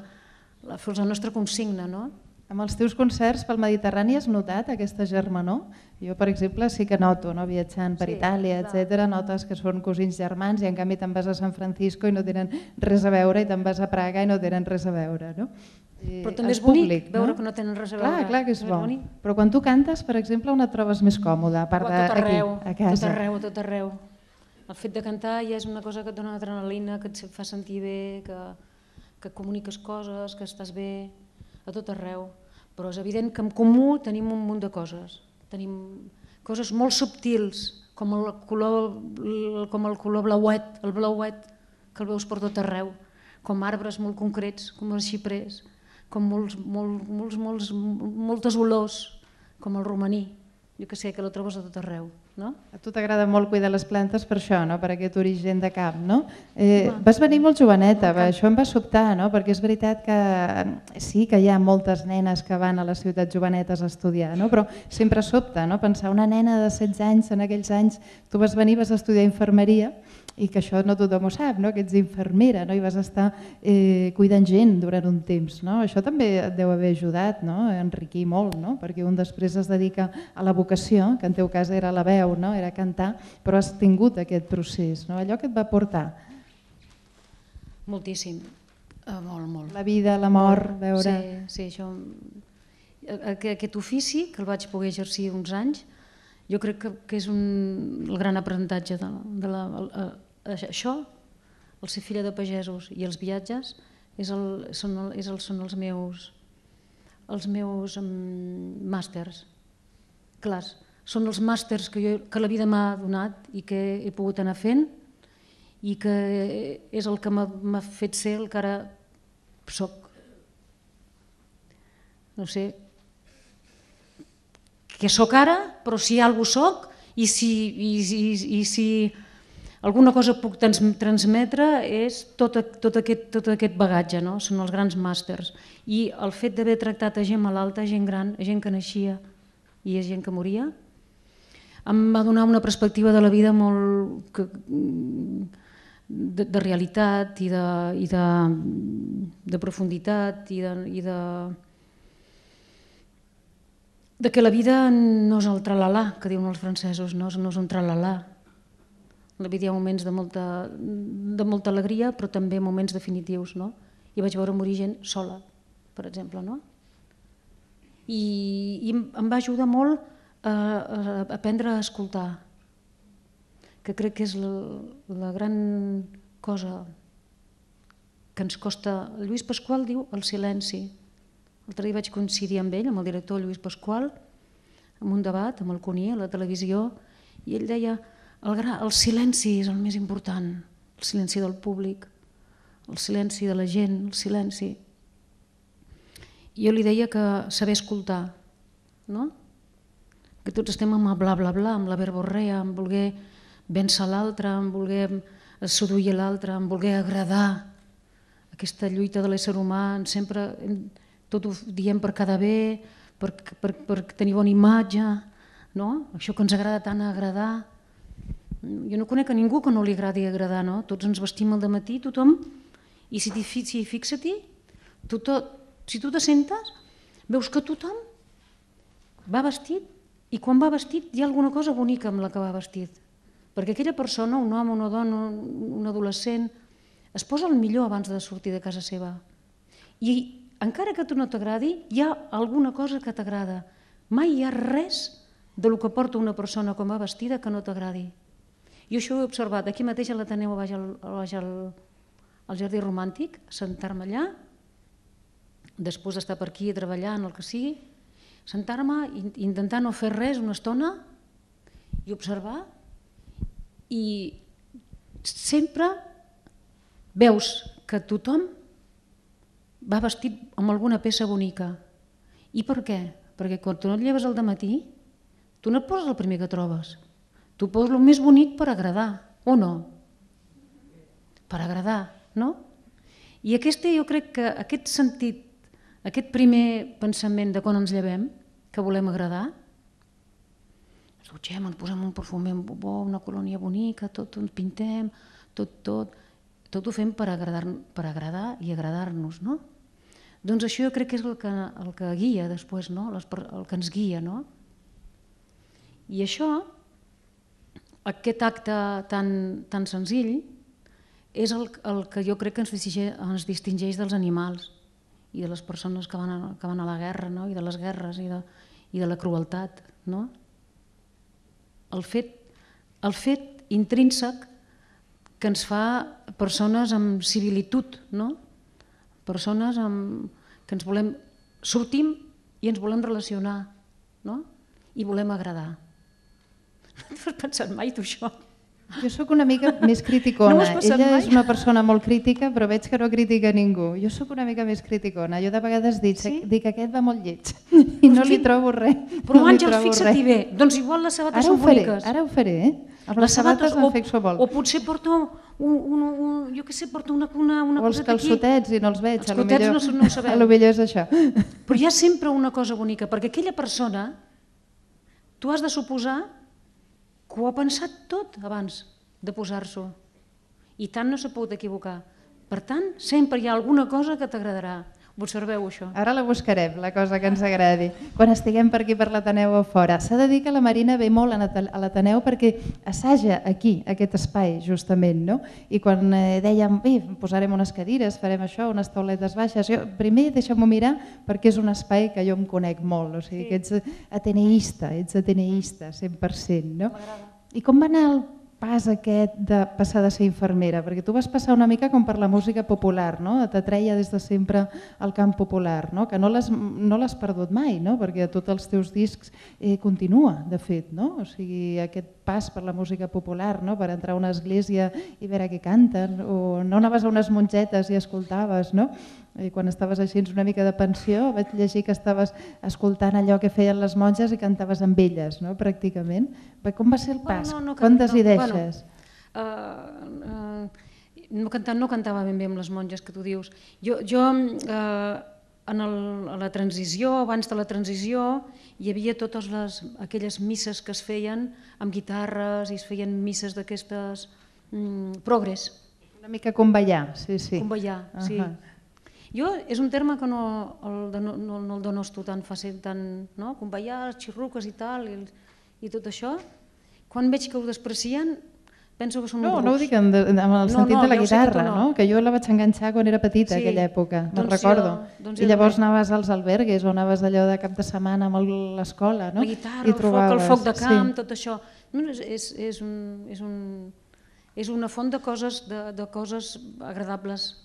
la, fos la nostra consigna, no? Amb els teus concerts pel Mediterrani has notat aquesta germanor? Jo, per exemple, sí que noto, no? Viatjant per sí, Itàlia, etcètera, notes que són cosins germans i en canvi te'n vas a San Francisco i no tenen res a veure i te'n vas a Praga i no tenen res a veure, no? Però també és bonic públic, veure no? Que no tenen res a veure. Clar, clar que és bo. Però quan tu cantes, per exemple, on et trobes més còmode? A part d'aquí, a casa. Tot arreu, tot arreu. El fet de cantar ja és una cosa que et dona adrenalina, que et fa sentir bé, que, que comuniques coses, que estàs bé, a tot arreu. Però és evident que en comú tenim un munt de coses. Tenim coses molt subtils, com el color, com el color blauet, el blauet, que el veus per tot arreu, com arbres molt concrets, com els xiprers, com molts, molts, molts, molts, moltes olors, com el romaní. Jo que sé, que la trobes a tot arreu. No? A tu t'agrada molt cuidar les plantes per això, no? Per aquest origen de camp. No? Eh, vas venir molt joveneta, va, això em va sobtar, no? Perquè és veritat que sí que hi ha moltes nenes que van a les ciutats jovenetes a estudiar, no? Però sempre sobta, no? Pensar una nena de setze anys, en aquells anys, tu vas venir, vas estudiar infermeria i que això no tothom ho sap, no? Que ets infermera, no? I vas estar eh, cuidant gent durant un temps. No? Això també et deu haver ajudat, no? A enriquir molt, no? Perquè un després es dedica a la vocació, que en teu cas era la veu, no? Era cantar, però has tingut aquest procés, no? Allò que et va portar. Moltíssim, uh, molt, molt. La vida, la mort, veure... Sí, sí, això... Aquest ofici, que el vaig poder exercir uns anys, jo crec que, que és un, el gran aprenentatge de, de la... Uh, això, el ser filla de pagesos i els viatges, és el, són, el, és el, són els meus, els meus um, màsters. Clars, són els màsters que, jo, que la vida m'ha donat i que he pogut anar fent i que és el que m'ha fet ser el que ara soc. No sé què soc ara, però si alguna cosa soc i si, i, i, i si alguna cosa puc transmetre és tot, tot, aquest, tot aquest bagatge, no? Són els grans màsters. I el fet d'haver tractat a gent malalta, a gent gran, a gent que naixia i a gent que moria, em va donar una perspectiva de la vida molt de, de realitat i, de, i de, de profunditat i de, i de, de que la vida no és el tralalà, que diuen els francesos, no, no és un tralalà. La vida hi ha moments de molta, de molta alegria, però també moments definitius. No? I vaig veure morir gent sola, per exemple. No? I, i em va ajudar molt a, a aprendre a escoltar, que crec que és la, la gran cosa que ens costa. Lluís Pasqual diu el silenci. L'altre dia vaig coincidir amb ell, amb el director Lluís Pasqual, en un debat amb el Cuní a la televisió, i ell deia el, gra, el silenci és el més important, el silenci del públic, el silenci de la gent, el silenci. I jo li deia que saber escoltar, no? Que tots estem amb el bla bla bla, amb la verborrea, amb voler vèncer l'altre, amb voler seduir l'altre, amb voler agradar. Aquesta lluita de l'ésser humà, sempre tot ho diem per quedar bé, per, per, per tenir bona imatge, no? Això que ens agrada tant agradar. Jo no conec a ningú que no li agradi agradar, no? Tots ens vestim al dematí, tothom, i si, si fixa-t'hi, tu si tu te sentes, veus que tothom va vestit, i quan va vestit hi ha alguna cosa bonica amb la que va vestit. Perquè aquella persona, un home, una dona, un adolescent, es posa el millor abans de sortir de casa seva. I encara que a tu no t'agradi, hi ha alguna cosa que t'agrada. Mai hi ha res del que porta una persona com va vestida que no t'agradi. Jo això ho he observat aquí mateix a l'Ateneu, baix al, baix al, al Jardí Romàntic, sentar-me allà, després d'estar per aquí treballant, el que sigui, sentar-me i intentar no fer res una estona i observar, i sempre veus que tothom va vestit amb alguna peça bonica. I per què? Perquè quan tu no et lleves al dematí, tu no et poses el primer que trobes. Tu poses el més bonic per agradar, o no? Per agradar, no? I aquest, jo crec que aquest sentit, aquest primer pensament de quan ens llevem, que volem agradar, ens dutxem, ens posem un perfumer bo, una colònia bonica, tot ens pintem, tot, tot, tot ho fem per agradar, per agradar i agradar-nos, no? Doncs això jo crec que és el que, el que guia després, no? El que ens guia, no? I això, aquest acte tan, tan senzill, és el, el que jo crec que ens distingeix, ens distingeix dels animals i de les persones que van a, que van a la guerra, no? I de les guerres i de, i de la crueltat, no? El fet, el fet intrínsec que ens fa persones amb civilitud, no? Persones amb, que ens volem, sortim i ens volem relacionar, no? I volem agradar. No t'ho has pensat mai, tu, això? Jo sóc una mica més criticona. No Ella mai? és una persona molt crítica, però veig que no critica ningú. Jo sóc una mica més criticona. Jo de vegades dic, Sí? dic que aquest va molt lleig i no li trobo res. Però no li Àngels, trobo fixa-t'hi res. bé, doncs igual les sabates Ara ho són faré, boniques. ara ho faré, eh? Amb les sabates em fixo molt. O potser porto, un, un, un, jo què sé, porto una, una, una O els coseta aquí. calçotets i no els veig. Els a lo calçotets millor- no són- no ho sabem. A lo millor és això. Però hi ha sempre una cosa bonica, perquè aquella persona, tu has de suposar que ho ha pensat tot abans de posar-s'ho. I tant no s'ha pogut equivocar. Per tant, sempre hi ha alguna cosa que t'agradarà. Observeu això. Ara la buscarem, la cosa que ens agradi, quan estiguem per aquí per l'Ateneu o fora. S'ha de dir que la Marina ve molt a l'Ateneu perquè assaja aquí, aquest espai, justament, no? I quan eh, dèiem, bé, posarem unes cadires, farem això, unes tauletes baixes, jo, primer deixa'm-ho mirar perquè és un espai que jo em conec molt, o sigui que ets ateneista, ets ateneista, cent per cent, no? I com va anar el pas aquest de passar de ser infermera? Perquè tu vas passar una mica com per la música popular, no? T'atreia des de sempre al camp popular, no? Que no l'has no l'has perdut mai, no? Perquè a tots els teus discs eh, continua, de fet, no? O sigui, aquest pas per la música popular, no? Per entrar a una església i veure què canten, o no anaves a unes mongetes i escoltaves, no? I quan estaves així una mica de pensió vaig llegir que estaves escoltant allò que feien les monges i cantaves amb elles, no? Pràcticament. Com va ser el pas? Bueno, no, no, Quantes no, hi deixes? Bueno, uh, uh, no, cantava, no cantava ben bé amb les monges que tu dius. Jo, jo uh, en el, a la transició, abans de la transició, hi havia totes les, aquelles misses que es feien amb guitarres i es feien misses d'aquestes um, progres. Una mica com ballar, sí, sí. Com ballar, sí. Uh -huh. Jo és un terme que no el, no, no, no el donosto tan fàcil, tan, no? Com ballar, les xirruques i tal, i, i tot això. Quan veig que ho desprecien, penso que són No, uns no ho rucs. dic en, en el No, sentit no, de la ja ho sé que guitarra, tu no. no? Que jo la vaig enganxar quan era petita, Sí, aquella època, me'n doncs recordo. jo- doncs I jo llavors també. anaves als albergues o anaves allò de cap de setmana amb el- l'escola, no? La guitarra, I el foc, el foc de camp, sí. tot això. No, és, és, és, un, és, un, és una font de coses, de, de coses agradables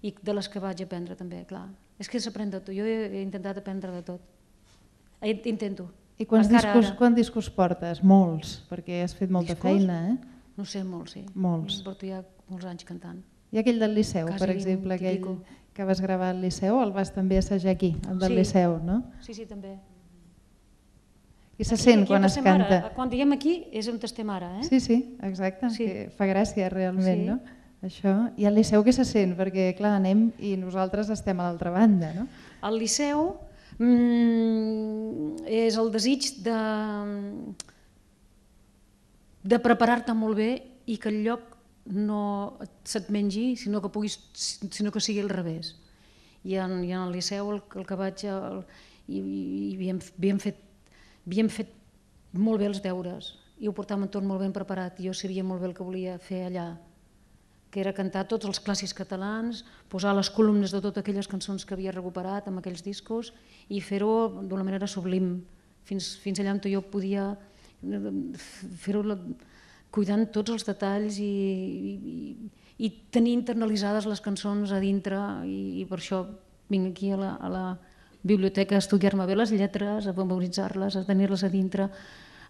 i de les que vaig aprendre també, clar. És que s'aprèn de tot, jo he, he intentat aprendre de tot. He- Intento. I quants Encara discos, ara. quants discos portes? Molts, perquè has fet molta Discos? feina, eh? No sé, molts, sí. Molts. Porto ja molts anys cantant. I aquell del Liceu, Quasi per vint exemple, i aquell pico. que vas gravar al Liceu, el vas també assajar aquí, el del Sí. Liceu, no? Sí, sí, també. I se Aquí- sent aquí quan on es estem ara. canta. Quan diem aquí és on estem ara, eh? Sí, sí, exacte, Sí. que fa gràcia realment, Sí. no? Això. I al Liceu què se sent? Perquè, clar, anem i nosaltres estem a l'altra banda, no? Al Liceu mm, és el desig de, de preparar-te molt bé i que el lloc no se't mengi, sinó que, puguis, sinó que sigui al revés. I en, i en el Liceu el, el que vaig... El, i, i havíem, havíem, fet, havíem fet molt bé els deures i ho portàvem tot molt ben preparat. Jo sabia molt bé el que volia fer allà, que era cantar tots els clàssics catalans, posar les columnes de totes aquelles cançons que havia recuperat amb aquells discos i fer-ho d'una manera sublim, fins, fins allà on jo podia fer-ho cuidant tots els detalls i, i, i tenir internalitzades les cançons a dintre, i, i per això vinc aquí a la, a la biblioteca a estudiar-me bé les lletres, a memoritzar-les, a tenir-les a dintre,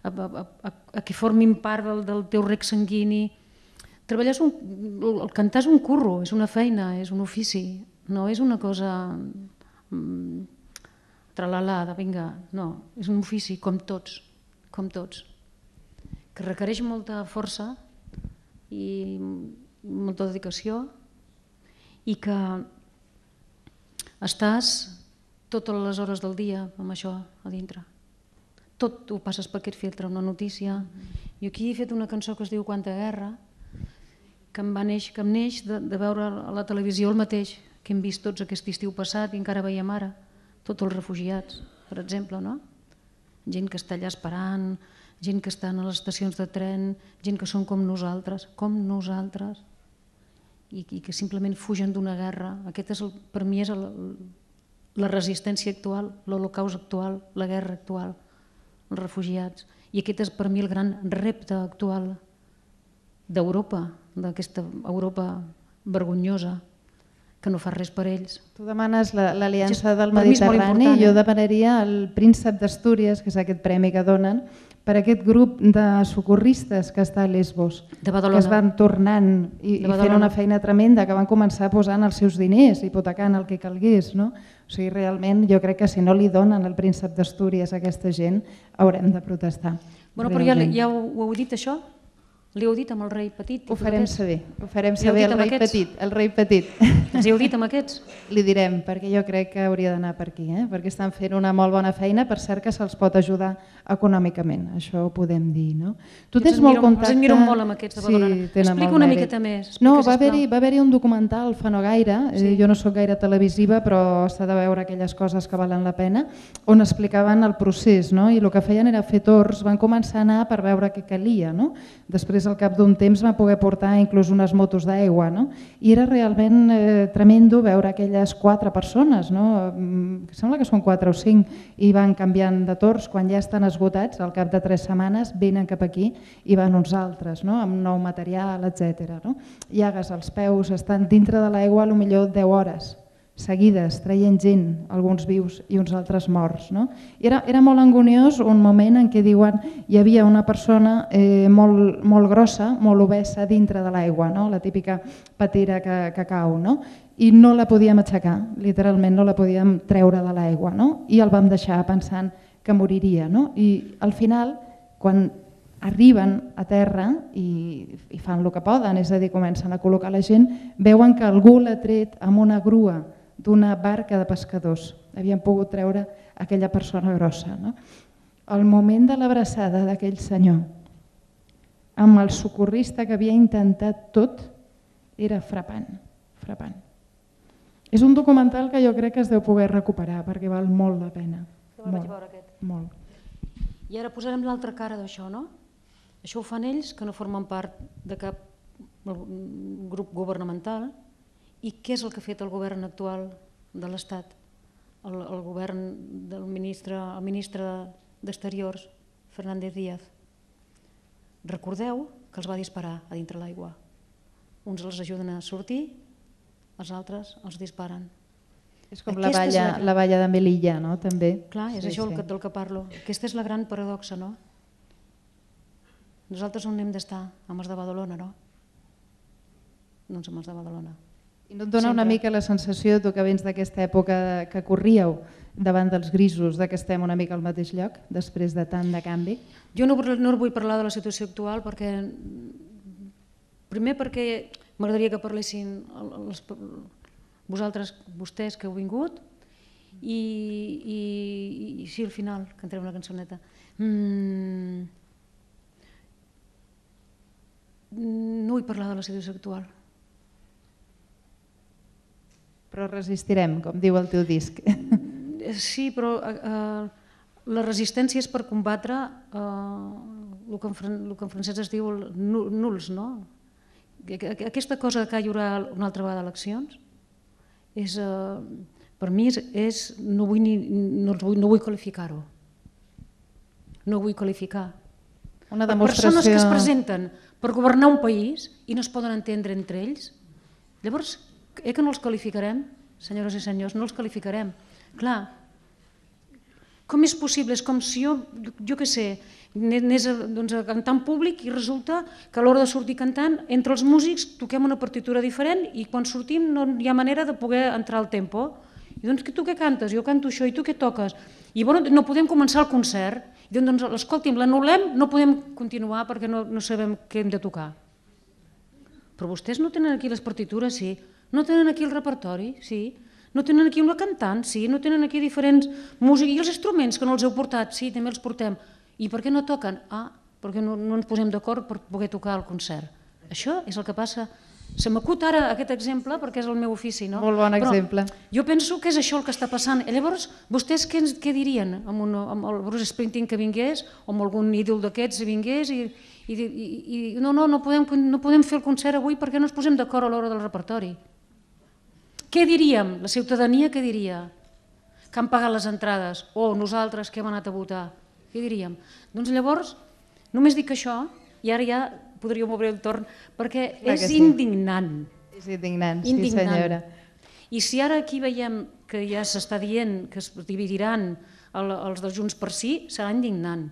a, a, a, a que formin part del, del teu rec sanguini. Treballar és un, el cantar és un curro, és una feina, és un ofici, no és una cosa mm, tralala, de vinga, no, és un ofici com tots, com tots, que requereix molta força i molta dedicació i que estàs totes les hores del dia amb això a dintre. Tot ho passes per aquest filtre, una notícia. Jo aquí he fet una cançó que es diu Quanta guerra, que em va neix, que em neix de, de veure a la televisió el mateix que hem vist tots aquest estiu passat i encara veiem ara, tots els refugiats, per exemple, no? Gent que està allà esperant, gent que estan a les estacions de tren, gent que són com nosaltres, com nosaltres, i, i que simplement fugen d'una guerra. Aquest és el, per mi és el, la resistència actual, l'holocaust actual, la guerra actual, els refugiats. I aquest és per mi el gran repte actual d'Europa, d'aquesta Europa vergonyosa, que no fa res per ells. Tu demanes l'Aliança del Per mi és molt Mediterrani, important, jo eh? demanaria el Príncep d'Astúries, que és aquest premi que donen, per aquest grup de socorristes que està a Lesbos, De Badalona. que es van tornant i, De i fent Badalona. una feina tremenda, que van començar posant els seus diners, hipotecant el que calgués. No? O sigui, realment, jo crec que si no li donen el Príncep d'Astúries a aquesta gent, haurem de protestar. Bueno, però ja, realment. ja ho, ho heu dit, això? Li heu dit amb el rei petit? i Ho tot farem aquest? saber, ho farem Li heu saber dit el amb rei aquests? petit, el rei petit. Els hi heu dit amb aquests? Li direm, perquè jo crec que hauria d'anar per aquí, eh? perquè estan fent una molt bona feina, per cert que se'ls pot ajudar econòmicament, això ho podem dir. No? Tu Jo tens els molt admiro- contacte... els admiro molt amb aquests de Badalona. Sí, tenen Explica molt una mèrit. miqueta més, explica, No, va sisplau. haver-hi va haver un documental fa no gaire, Sí. eh, jo no sóc gaire televisiva, però s'ha de veure aquelles coses que valen la pena, on explicaven el procés, no? I el que feien era fer torns, van començar a anar per veure què calia. No? Després, al cap d'un temps, van poder portar inclús unes motos d'aigua, no? I era realment eh, tremendo veure aquelles quatre persones, no? Mm, sembla que són quatre o cinc, i van canviant de torns, quan ja estan esgotats, al cap de tres setmanes venen cap aquí i van uns altres, no? Amb nou material, etcètera. No? Llagues als peus, estan dintre de l'aigua potser deu hores seguides, traient gent, alguns vius i uns altres morts. No? I era, era molt angoniós un moment en què diuen hi havia una persona eh, molt, molt grossa, molt obesa dintre de l'aigua, no? La típica patera que, que cau, no? I no la podíem aixecar, literalment no la podíem treure de l'aigua, no? I el vam deixar pensant que moriria. No? I al final, quan arriben a terra i, i fan el que poden, és a dir, comencen a col·locar la gent, veuen que algú l'ha tret amb una grua d'una barca de pescadors. Havien pogut treure aquella persona grossa. No? El moment de l'abraçada d'aquell senyor amb el socorrista que havia intentat tot era frapant, frapant. És un documental que jo crec que es deu poder recuperar perquè val molt la pena. Jo el vaig veure aquest. Molt. I ara posarem l'altra cara d'això, no? Això ho fan ells, que no formen part de cap grup governamental. I què és el que ha fet el govern actual de l'Estat? El, el govern del ministre, el ministre d'Exteriors, Fernández Díaz. Recordeu que els va disparar a dintre l'aigua. Uns els ajuden a sortir, els altres els disparen. És com la valla, la valla de Melilla, no? També. Clar, és Sí, això sí. el que- del que parlo. Aquesta és la gran paradoxa, no? Nosaltres on hem d'estar? Amb els de Badalona, no? Doncs amb els de Badalona. I no et dona una Sempre. mica la sensació, tu que vens d'aquesta època que corríeu davant dels grisos, de que estem una mica al mateix lloc, després de tant de canvi? Jo no, no vull parlar de la situació actual perquè, primer perquè m'agradaria que parlessin els, vosaltres, vostès que heu vingut, i, i, i sí, al final cantarem una cançoneta. Mm, no vull parlar de la situació actual. Però resistirem, com diu el teu disc. Sí, però eh, la resistència és per combatre eh, el, que en, el que en francès es diu el nuls, no? Aquesta cosa que hi haurà una altra vegada eleccions, és, eh, per mi és, és no vull, ni, no vull, no vull qualificar-ho. No vull qualificar. Una persones que es demostració... presenten per governar un país i no es poden entendre entre ells. Llavors, eh que no els qualificarem, senyores i senyors, no els qualificarem. Clar, com és possible? És com si jo, jo què sé, anés a, doncs, a cantar en públic i resulta que a l'hora de sortir cantant, entre els músics toquem una partitura diferent i quan sortim no hi ha manera de poder entrar al tempo. I doncs, tu què cantes? Jo canto això, i tu què toques? I bueno, no podem començar el concert. I doncs, escolti'm, l'anul·lem, no podem continuar perquè no, no sabem què hem de tocar. Però vostès no tenen aquí les partitures, sí. No tenen aquí el repertori, sí. No tenen aquí una cantant, sí. No tenen aquí diferents músics. I els instruments que no els heu portat, sí, també els portem. I per què no toquen? Ah, perquè no, no ens posem d'acord per poder tocar el concert. Això és el que passa. Se m'acut ara aquest exemple perquè és el meu ofici, no? Molt bon exemple. Però jo penso que és això el que està passant. I llavors, vostès què, què dirien amb, un, amb el Bruce Springsteen que vingués o amb algun ídol d'aquests vingués i, i, i, i no, no, no podem, no podem fer el concert avui perquè no ens posem d'acord a l'hora del repertori. Què diríem? La ciutadania què diria? Que han pagat les entrades o nosaltres que hem anat a votar? Què diríem? Doncs llavors, només dic això i ara ja podríem obrir el torn, perquè és indignant. És indignant, sí senyora. I si ara aquí veiem que ja s'està dient que es dividiran els de Junts per Sí, serà indignant.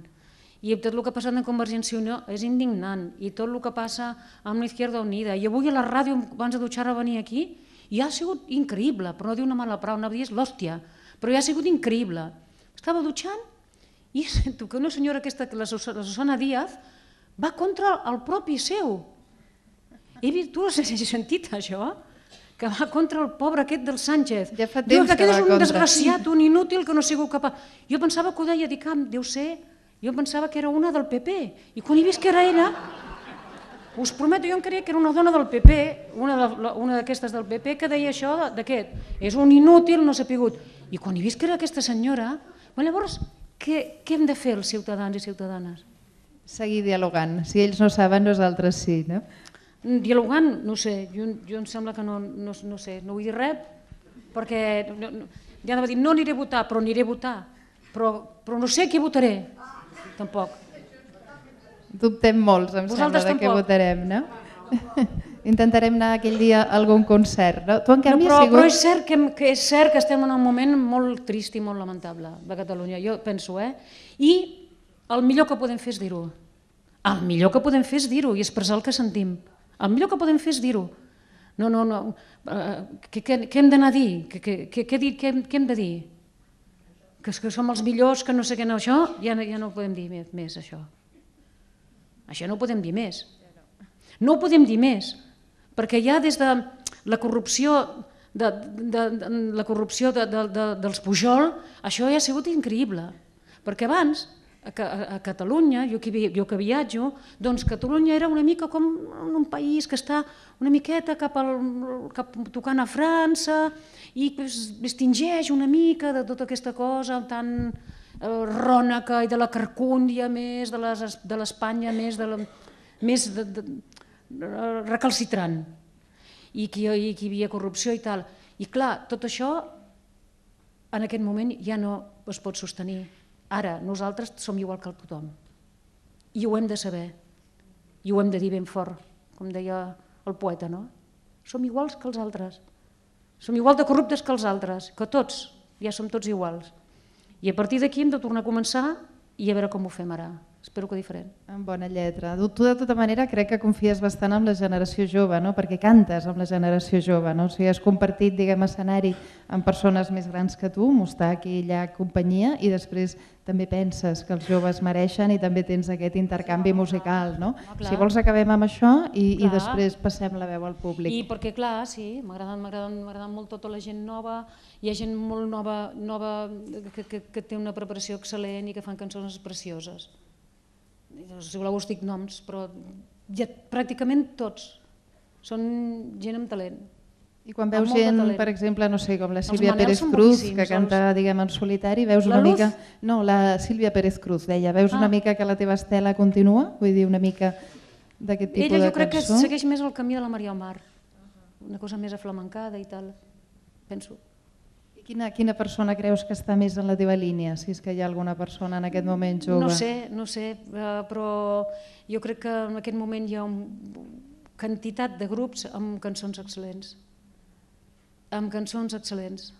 I tot el que ha passat en Convergència i Unió és indignant. I tot el que passa amb l'Izquierda Unida. I avui a la ràdio, abans de dutxar a venir aquí, ja ha sigut increïble, però no dir una mala paraula, una dia és l'hòstia, però ja ha sigut increïble. Estava dutxant i sento que una senyora aquesta, la Susana Díaz, va contra el propi seu. He vist, tu has sentit això? Que va contra el pobre aquest del Sánchez. Ja fa temps que va contra. Diu que aquest és un desgraciat, un inútil que no ha sigut capaç. Jo pensava que ho deia, dic, ah, deu ser, jo pensava que era una del P P. I quan he vist que era ella, us prometo, jo em creia que era una dona del P P, una d'aquestes del P P, que deia això d'aquest. És un inútil, no s'ha pigut. I quan he vist que era aquesta senyora, llavors, què hem de fer els ciutadans i ciutadanes? Seguir dialogant. Si ells no saben, nosaltres sí, no? Dialogant, no sé, jo, jo em sembla que no, no, no sé, no vull dir res, perquè no, no, ja anava a dir, no aniré a votar, però aniré a votar, però, però no sé què votaré, tampoc. Dubtem molts, em Vosaltres sembla, de què tampoc. votarem, no? Intentarem anar aquell dia a algun concert, no? Tu, en canvi, no, però, has sigut... però és cert, que, que és cert que estem en un moment molt trist i molt lamentable de Catalunya, jo penso, eh? I el millor que podem fer és dir-ho. El millor que podem fer és dir-ho i expressar el que sentim. El millor que podem fer és dir-ho. No, no, no. Què, què, què hem d'anar a dir? Què, què, què, què, què, què hem de dir? Que, que som els millors, que no sé què, no, això ja, ja no ho podem dir més, més, això. Això no ho podem dir més. No ho podem dir més, perquè ja des de la corrupció, de, de, de, la corrupció de, de, de, dels Pujol, això ja ha sigut increïble. Perquè abans, a, a Catalunya, jo que, jo que viatjo, doncs Catalunya era una mica com un país que està una miqueta cap, al, cap tocant a França i es distingeix una mica de tota aquesta cosa tan eh, ròneca i de la carcúndia més, de l'Espanya més, de la, més de, de, de, recalcitrant i que, i que hi havia corrupció i tal. I clar, tot això en aquest moment ja no es pot sostenir. Ara, nosaltres som igual que tothom i ho hem de saber i ho hem de dir ben fort, com deia el poeta, no? Som iguals que els altres, som igual de corruptes que els altres, que tots, ja som tots iguals. I a partir d'aquí hem de tornar a començar i a veure com ho fem ara. Espero que diferent. En bona lletra. Tu de tota manera crec que confies bastant en la generació jove, no? Perquè cantes amb la generació jove, no? O sigui, has compartit, diguem, escenari amb persones més grans que tu, mostrar aquí i allà companyia i després també penses que els joves mereixen i també tens aquest intercanvi musical, no? Ah, si vols acabem amb això i, i després passem la veu al públic. I perquè clar, sí, m'agrada molt tota la gent nova, hi ha gent molt nova, nova que, que, que té una preparació excel·lent i que fan cançons precioses. Si voleu us dic noms, però ja, pràcticament tots són gent amb talent. I quan veus gent, per exemple, no sé, com la Sílvia Pérez Cruz, que canta, diguem, en solitari, veus una mica... No, la Sílvia Pérez Cruz, deia, veus una mica que la teva estela continua? Vull dir, una mica d'aquest tipus de cançó? Ella jo crec que segueix més el camí de la Maria Omar, una cosa més aflamencada i tal, penso. I Quina, quina persona creus que està més en la teva línia, si és que hi ha alguna persona en aquest moment jove? No sé, no sé, però jo crec que en aquest moment hi ha una quantitat de grups amb cançons excel·lents, amb cançons excel·lents,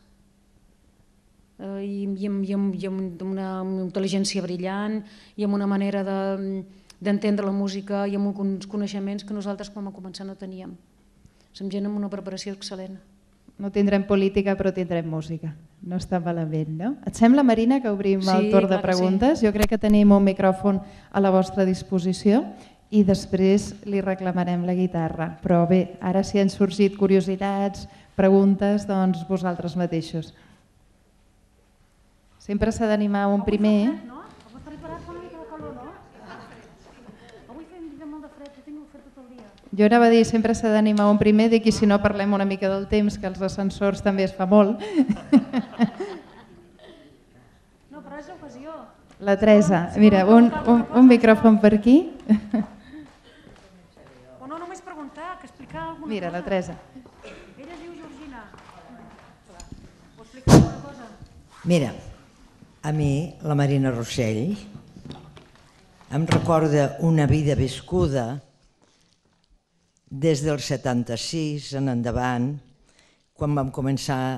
i, i, amb, i, amb, i amb una intel·ligència brillant, i amb una manera d'entendre la música, i amb uns coneixements que nosaltres quan vam començar no teníem. Som gent amb una preparació excel·lent. No tindrem política, però tindrem música. No està malament, no? Et sembla, Marina, que obrim Sí, el torn de clar que preguntes? sí. Jo crec que tenim un micròfon a la vostra disposició i després li reclamarem la guitarra. Però bé, ara si han sorgit curiositats, preguntes, doncs vosaltres mateixos. Sempre s'ha d'animar un primer. Avui fa preparat fa una mica de calor, no? Avui fem molt de fred, ho tinc fet tot el dia. Jo anava a dir, sempre s'ha d'animar un primer, dic, i si no parlem una mica del temps, que els ascensors també es fa molt. No, però és l'ocasió. La Teresa, mira, un, un, un micròfon per aquí. O no només preguntar, que explicar alguna Mira, cosa. la Teresa. Ella es diu Georgina. O explicar alguna cosa. Mira, a mi, la Marina Rossell, em recorda una vida viscuda des del setanta-sis en endavant, quan vam començar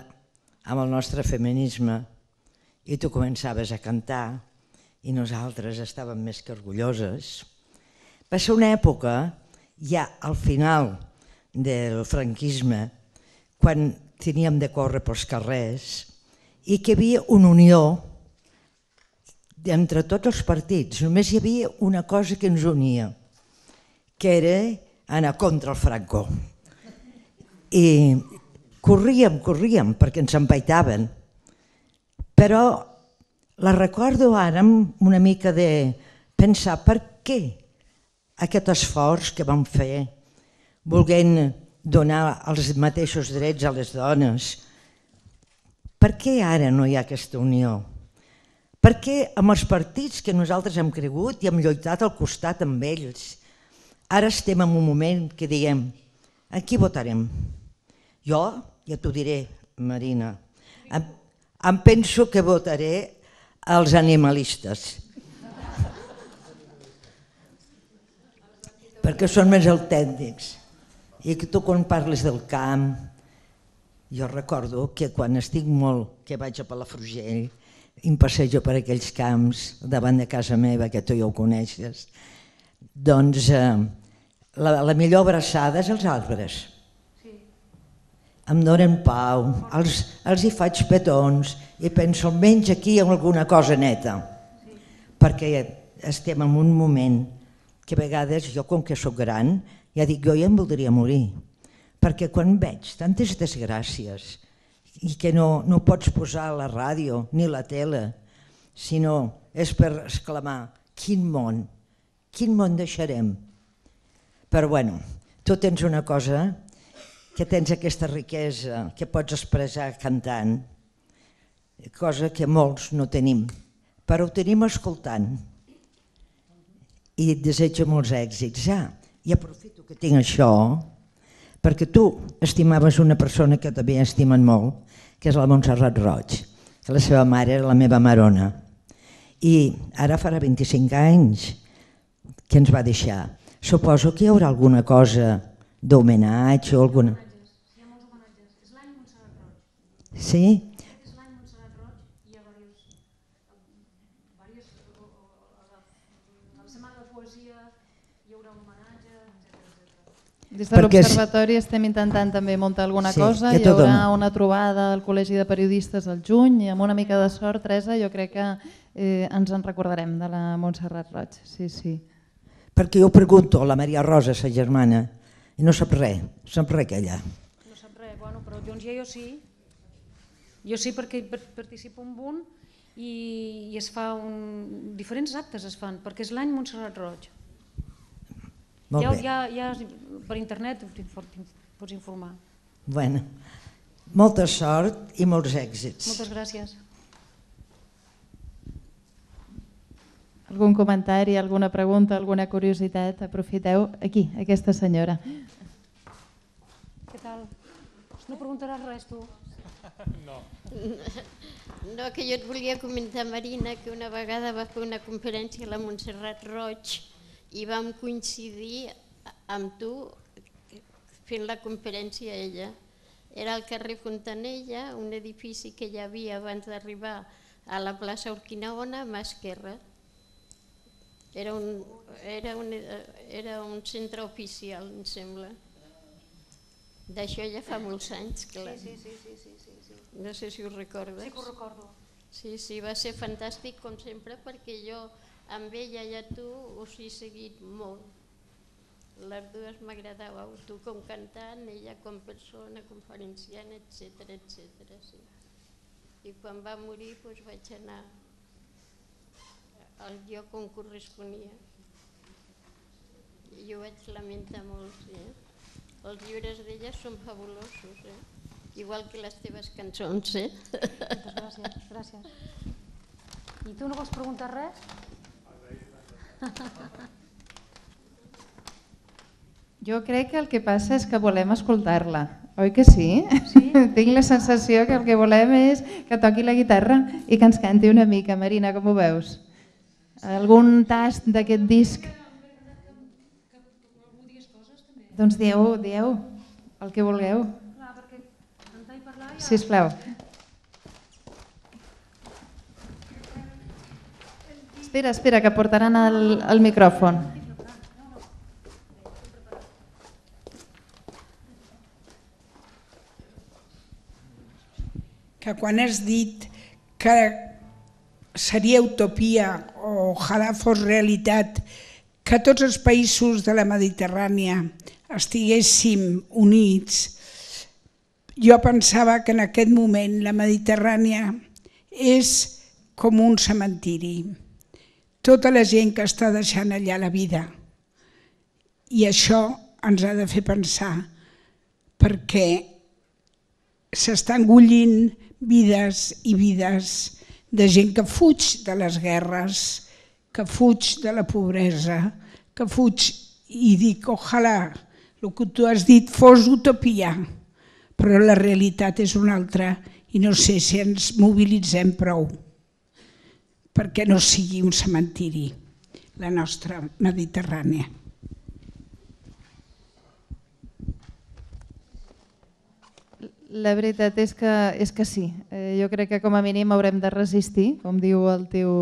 amb el nostre feminisme i tu començaves a cantar i nosaltres estàvem més que orgulloses. Va ser una època, ja al final del franquisme, quan teníem de córrer pels carrers i que hi havia una unió entre tots els partits. Només hi havia una cosa que ens unia, que era anar contra el Franco. I corríem, corríem, perquè ens empaitaven. Però la recordo ara amb una mica de pensar per què aquest esforç que vam fer, volent donar els mateixos drets a les dones, per què ara no hi ha aquesta unió? Per què amb els partits que nosaltres hem cregut i hem lluitat al costat amb ells, ara estem en un moment que diem, a qui votarem? Jo, ja t'ho diré, Marina, em, em penso que votaré als animalistes, perquè són més autèntics. I que tu quan parles del camp, jo recordo que quan estic molt, que vaig a Palafrugell, i em passejo per aquells camps davant de casa meva, que tu ja ho coneixes, doncs eh, la, la millor abraçada és els arbres. Sí. Em donen pau, els, els hi faig petons i penso almenys aquí hi ha alguna cosa neta. Sí. Perquè estem en un moment que a vegades jo, com que sóc gran, ja dic, jo ja em voldria morir. Perquè quan veig tantes desgràcies i que no, no pots posar la ràdio ni la tele, sinó és per exclamar, quin món, quin món deixarem? Però bueno, tu tens una cosa, que tens aquesta riquesa que pots expressar cantant, cosa que molts no tenim, però ho tenim escoltant. I et desejo molts èxits. Ja, i aprofito que tinc això, perquè tu estimaves una persona que també estimen molt, que és la Montserrat Roig, que la seva mare era la meva marona. I ara farà vint-i-cinc anys que ens va deixar. Suposo que hi haurà alguna cosa d'homenatge o alguna... Hi ha molts homenatges. És l'any Montserrat Roig. Sí? És l'any Montserrat Roig i hi ha diversos... A la Setmana de Poesia hi haurà un homenatge, etcètera. Des de l'Observatori estem intentant també muntar alguna Sí, cosa. ja Hi t'ho haurà dono. una trobada al Col·legi de Periodistes al juny i amb una mica de sort, Teresa, jo crec que eh, ens en recordarem de la Montserrat Roig. Sí, sí. Perquè jo pregunto a la Maria Rosa, sa germana, i no sap res, sap res aquella. No sap res, bueno, però doncs ja jo sí. Jo sí perquè participo en un i, i es fa un... diferents actes es fan, perquè és l'any Montserrat Roig. Molt Ja, bé. ja, ja per internet pots informar. Bueno, molta sort i molts èxits. Moltes gràcies. Algun comentari, alguna pregunta, alguna curiositat? Aprofiteu. Aquí, aquesta senyora. Què tal? No preguntaràs res, tu? No. No, que jo et volia comentar, Marina, que una vegada va fer una conferència a la Montserrat Roig i vam coincidir amb tu fent la conferència a ella. Era al carrer Fontanella, un edifici que hi havia abans d'arribar a la plaça Urquinaona, a mà esquerra. Era un, era, un, era un centre oficial, em sembla. D'això ja fa molts anys, clar. Sí, sí, sí, sí, sí, sí. No sé si ho recordes. Sí que ho recordo. Sí, sí, va ser fantàstic com sempre perquè jo amb ella i a tu us he seguit molt. Les dues m'agradàveu, tu com cantant, ella com persona, conferenciant, etcètera, etcètera. Sí. I quan va morir doncs, vaig anar al lloc on corresponia. I ho vaig lamentar molt, sí. Els llibres d'ella són fabulosos, eh? Igual que les teves cançons, eh? Moltes gràcies, gràcies. I tu no vols preguntar res? Jo crec que el que passa és que volem escoltar-la, oi que sí? Sí. Tinc la sensació que el que volem és que toqui la guitarra i que ens canti una mica. Marina, com ho veus? Algun tast d'aquest disc? Doncs dieu, dieu el que vulgueu. Clar, perquè cantar i parlar ja... Sisplau. Espera, espera, que portaran el, el micròfon. Que quan has dit que seria utopia o ojalà fos realitat que tots els països de la Mediterrània estiguéssim units, jo pensava que en aquest moment la Mediterrània és com un cementiri. Tota la gent que està deixant allà la vida. I això ens ha de fer pensar, perquè s'estan engollint vides i vides de gent que fuig de les guerres, que fuig de la pobresa, que fuig i dic, ojalà, el que tu has dit fos utopia, però la realitat és una altra i no sé si ens mobilitzem prou perquè no sigui un cementiri, la nostra Mediterrània. La veritat és que, és que sí. Eh, jo crec que com a mínim haurem de resistir, com diu el teu,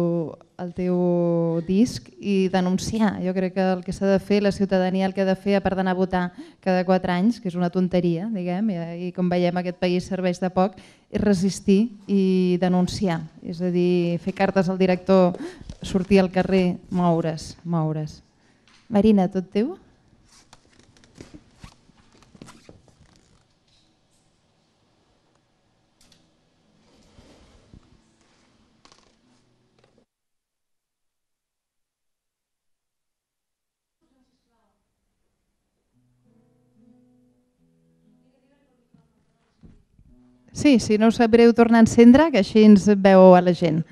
el teu disc, i denunciar. Jo crec que el que s'ha de fer, la ciutadania el que ha de fer, a part d'anar a votar cada quatre anys, que és una tonteria, diguem, i, i com veiem aquest país serveix de poc, és resistir i denunciar. És a dir, fer cartes al director, sortir al carrer, moure's, moure's. Marina, tot teu? Sí, si no us sap greu tornar a encendre, que així ens veu a la gent.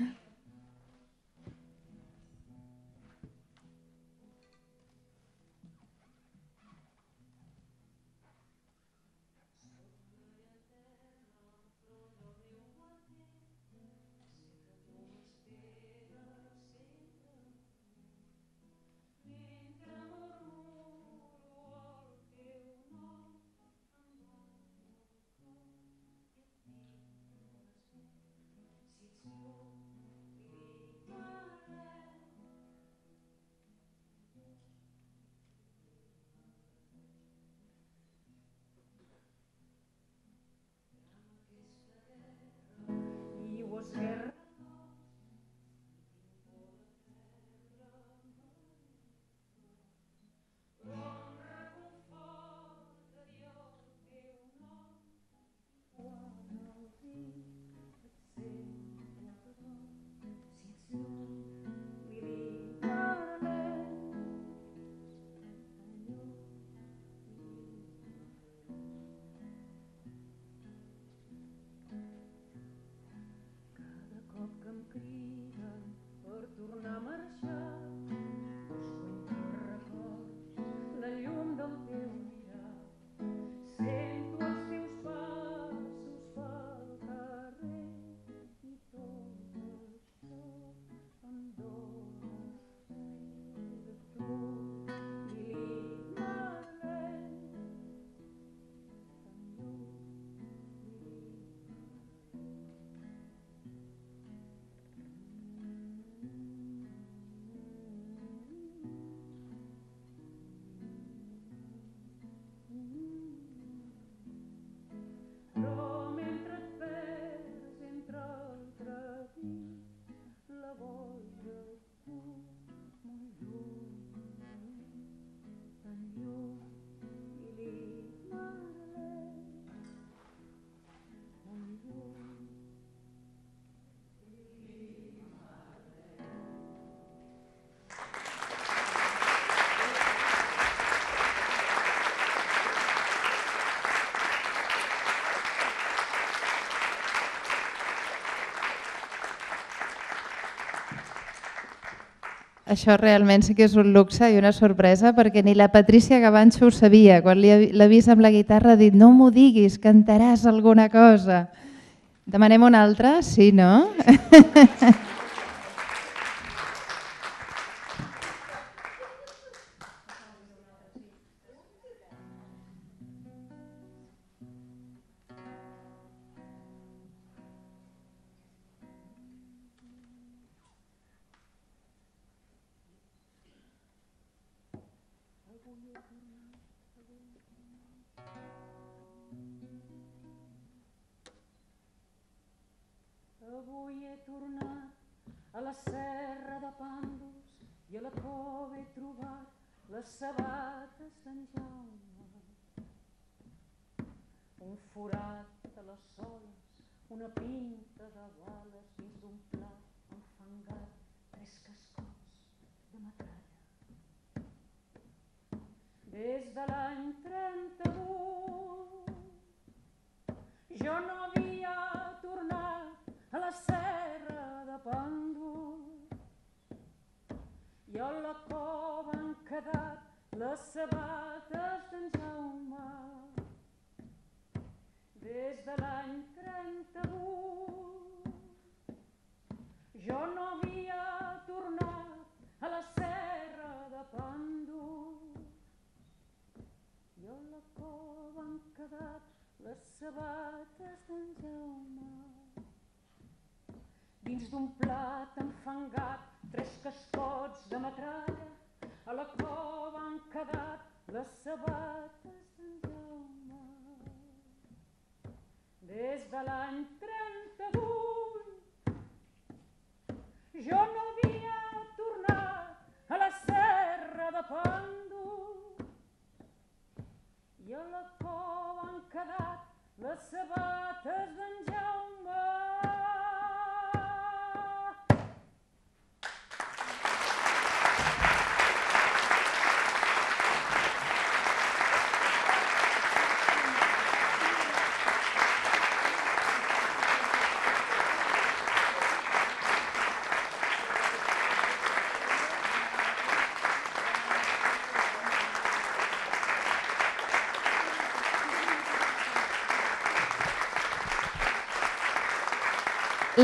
això realment sí que és un luxe i una sorpresa, perquè ni la Patrícia Gavancho ho sabia. Quan l'ha vist amb la guitarra ha dit, no m'ho diguis, cantaràs alguna cosa. Demanem una altra? Sí, no? Avui he tornat a la serra de Pàndols i a la cova he trobat les sabates d'en Jaume. Un forat a les soles, una pinta de bales dins d'un plat enfangat, tres cascots de metralla. Des de l'any trenta-vuit jo no havia tornat a la serra de Pàndols i a la cova han quedat les sabates d'en Jaume. Des de l'any trenta-vuit jo no havia tornat a la serra de Pàndols i a la cova han quedat les sabates d'en Jaume. Dins d'un plat enfangat, tres cascots de metralla, a la cova han quedat les sabates d'en Jaume. Des de l'any trenta-vuit jo no havia tornat a la serra de Pàndols i a la cova han quedat les sabates d'en Jaume.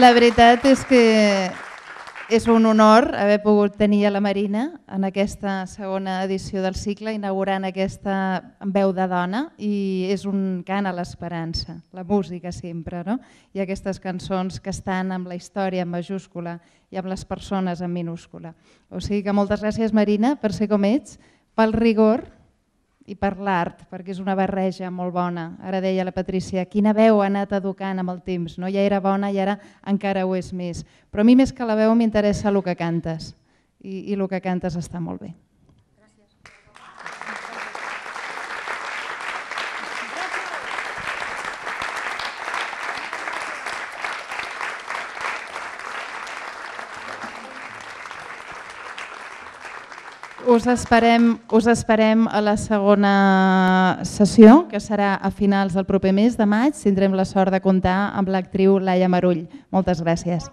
La veritat és que és un honor haver pogut tenir a la Marina en aquesta segona edició del cicle, inaugurant aquesta veu de dona, i és un cant a l'esperança, la música sempre, no? I aquestes cançons que estan amb la història en majúscula i amb les persones en minúscula. O sigui que moltes gràcies, Marina, per ser com ets, pel rigor i per l'art, perquè és una barreja molt bona. Ara deia la Patrícia, quina veu ha anat educant amb el temps, no? Ja era bona i ara encara ho és més. Però a mi més que la veu m'interessa el que cantes, i, i el que cantes està molt bé. Us esperem, us esperem a la segona sessió, que serà a finals del proper mes de maig. Tindrem la sort de comptar amb l'actriu Laia Marull. Moltes gràcies.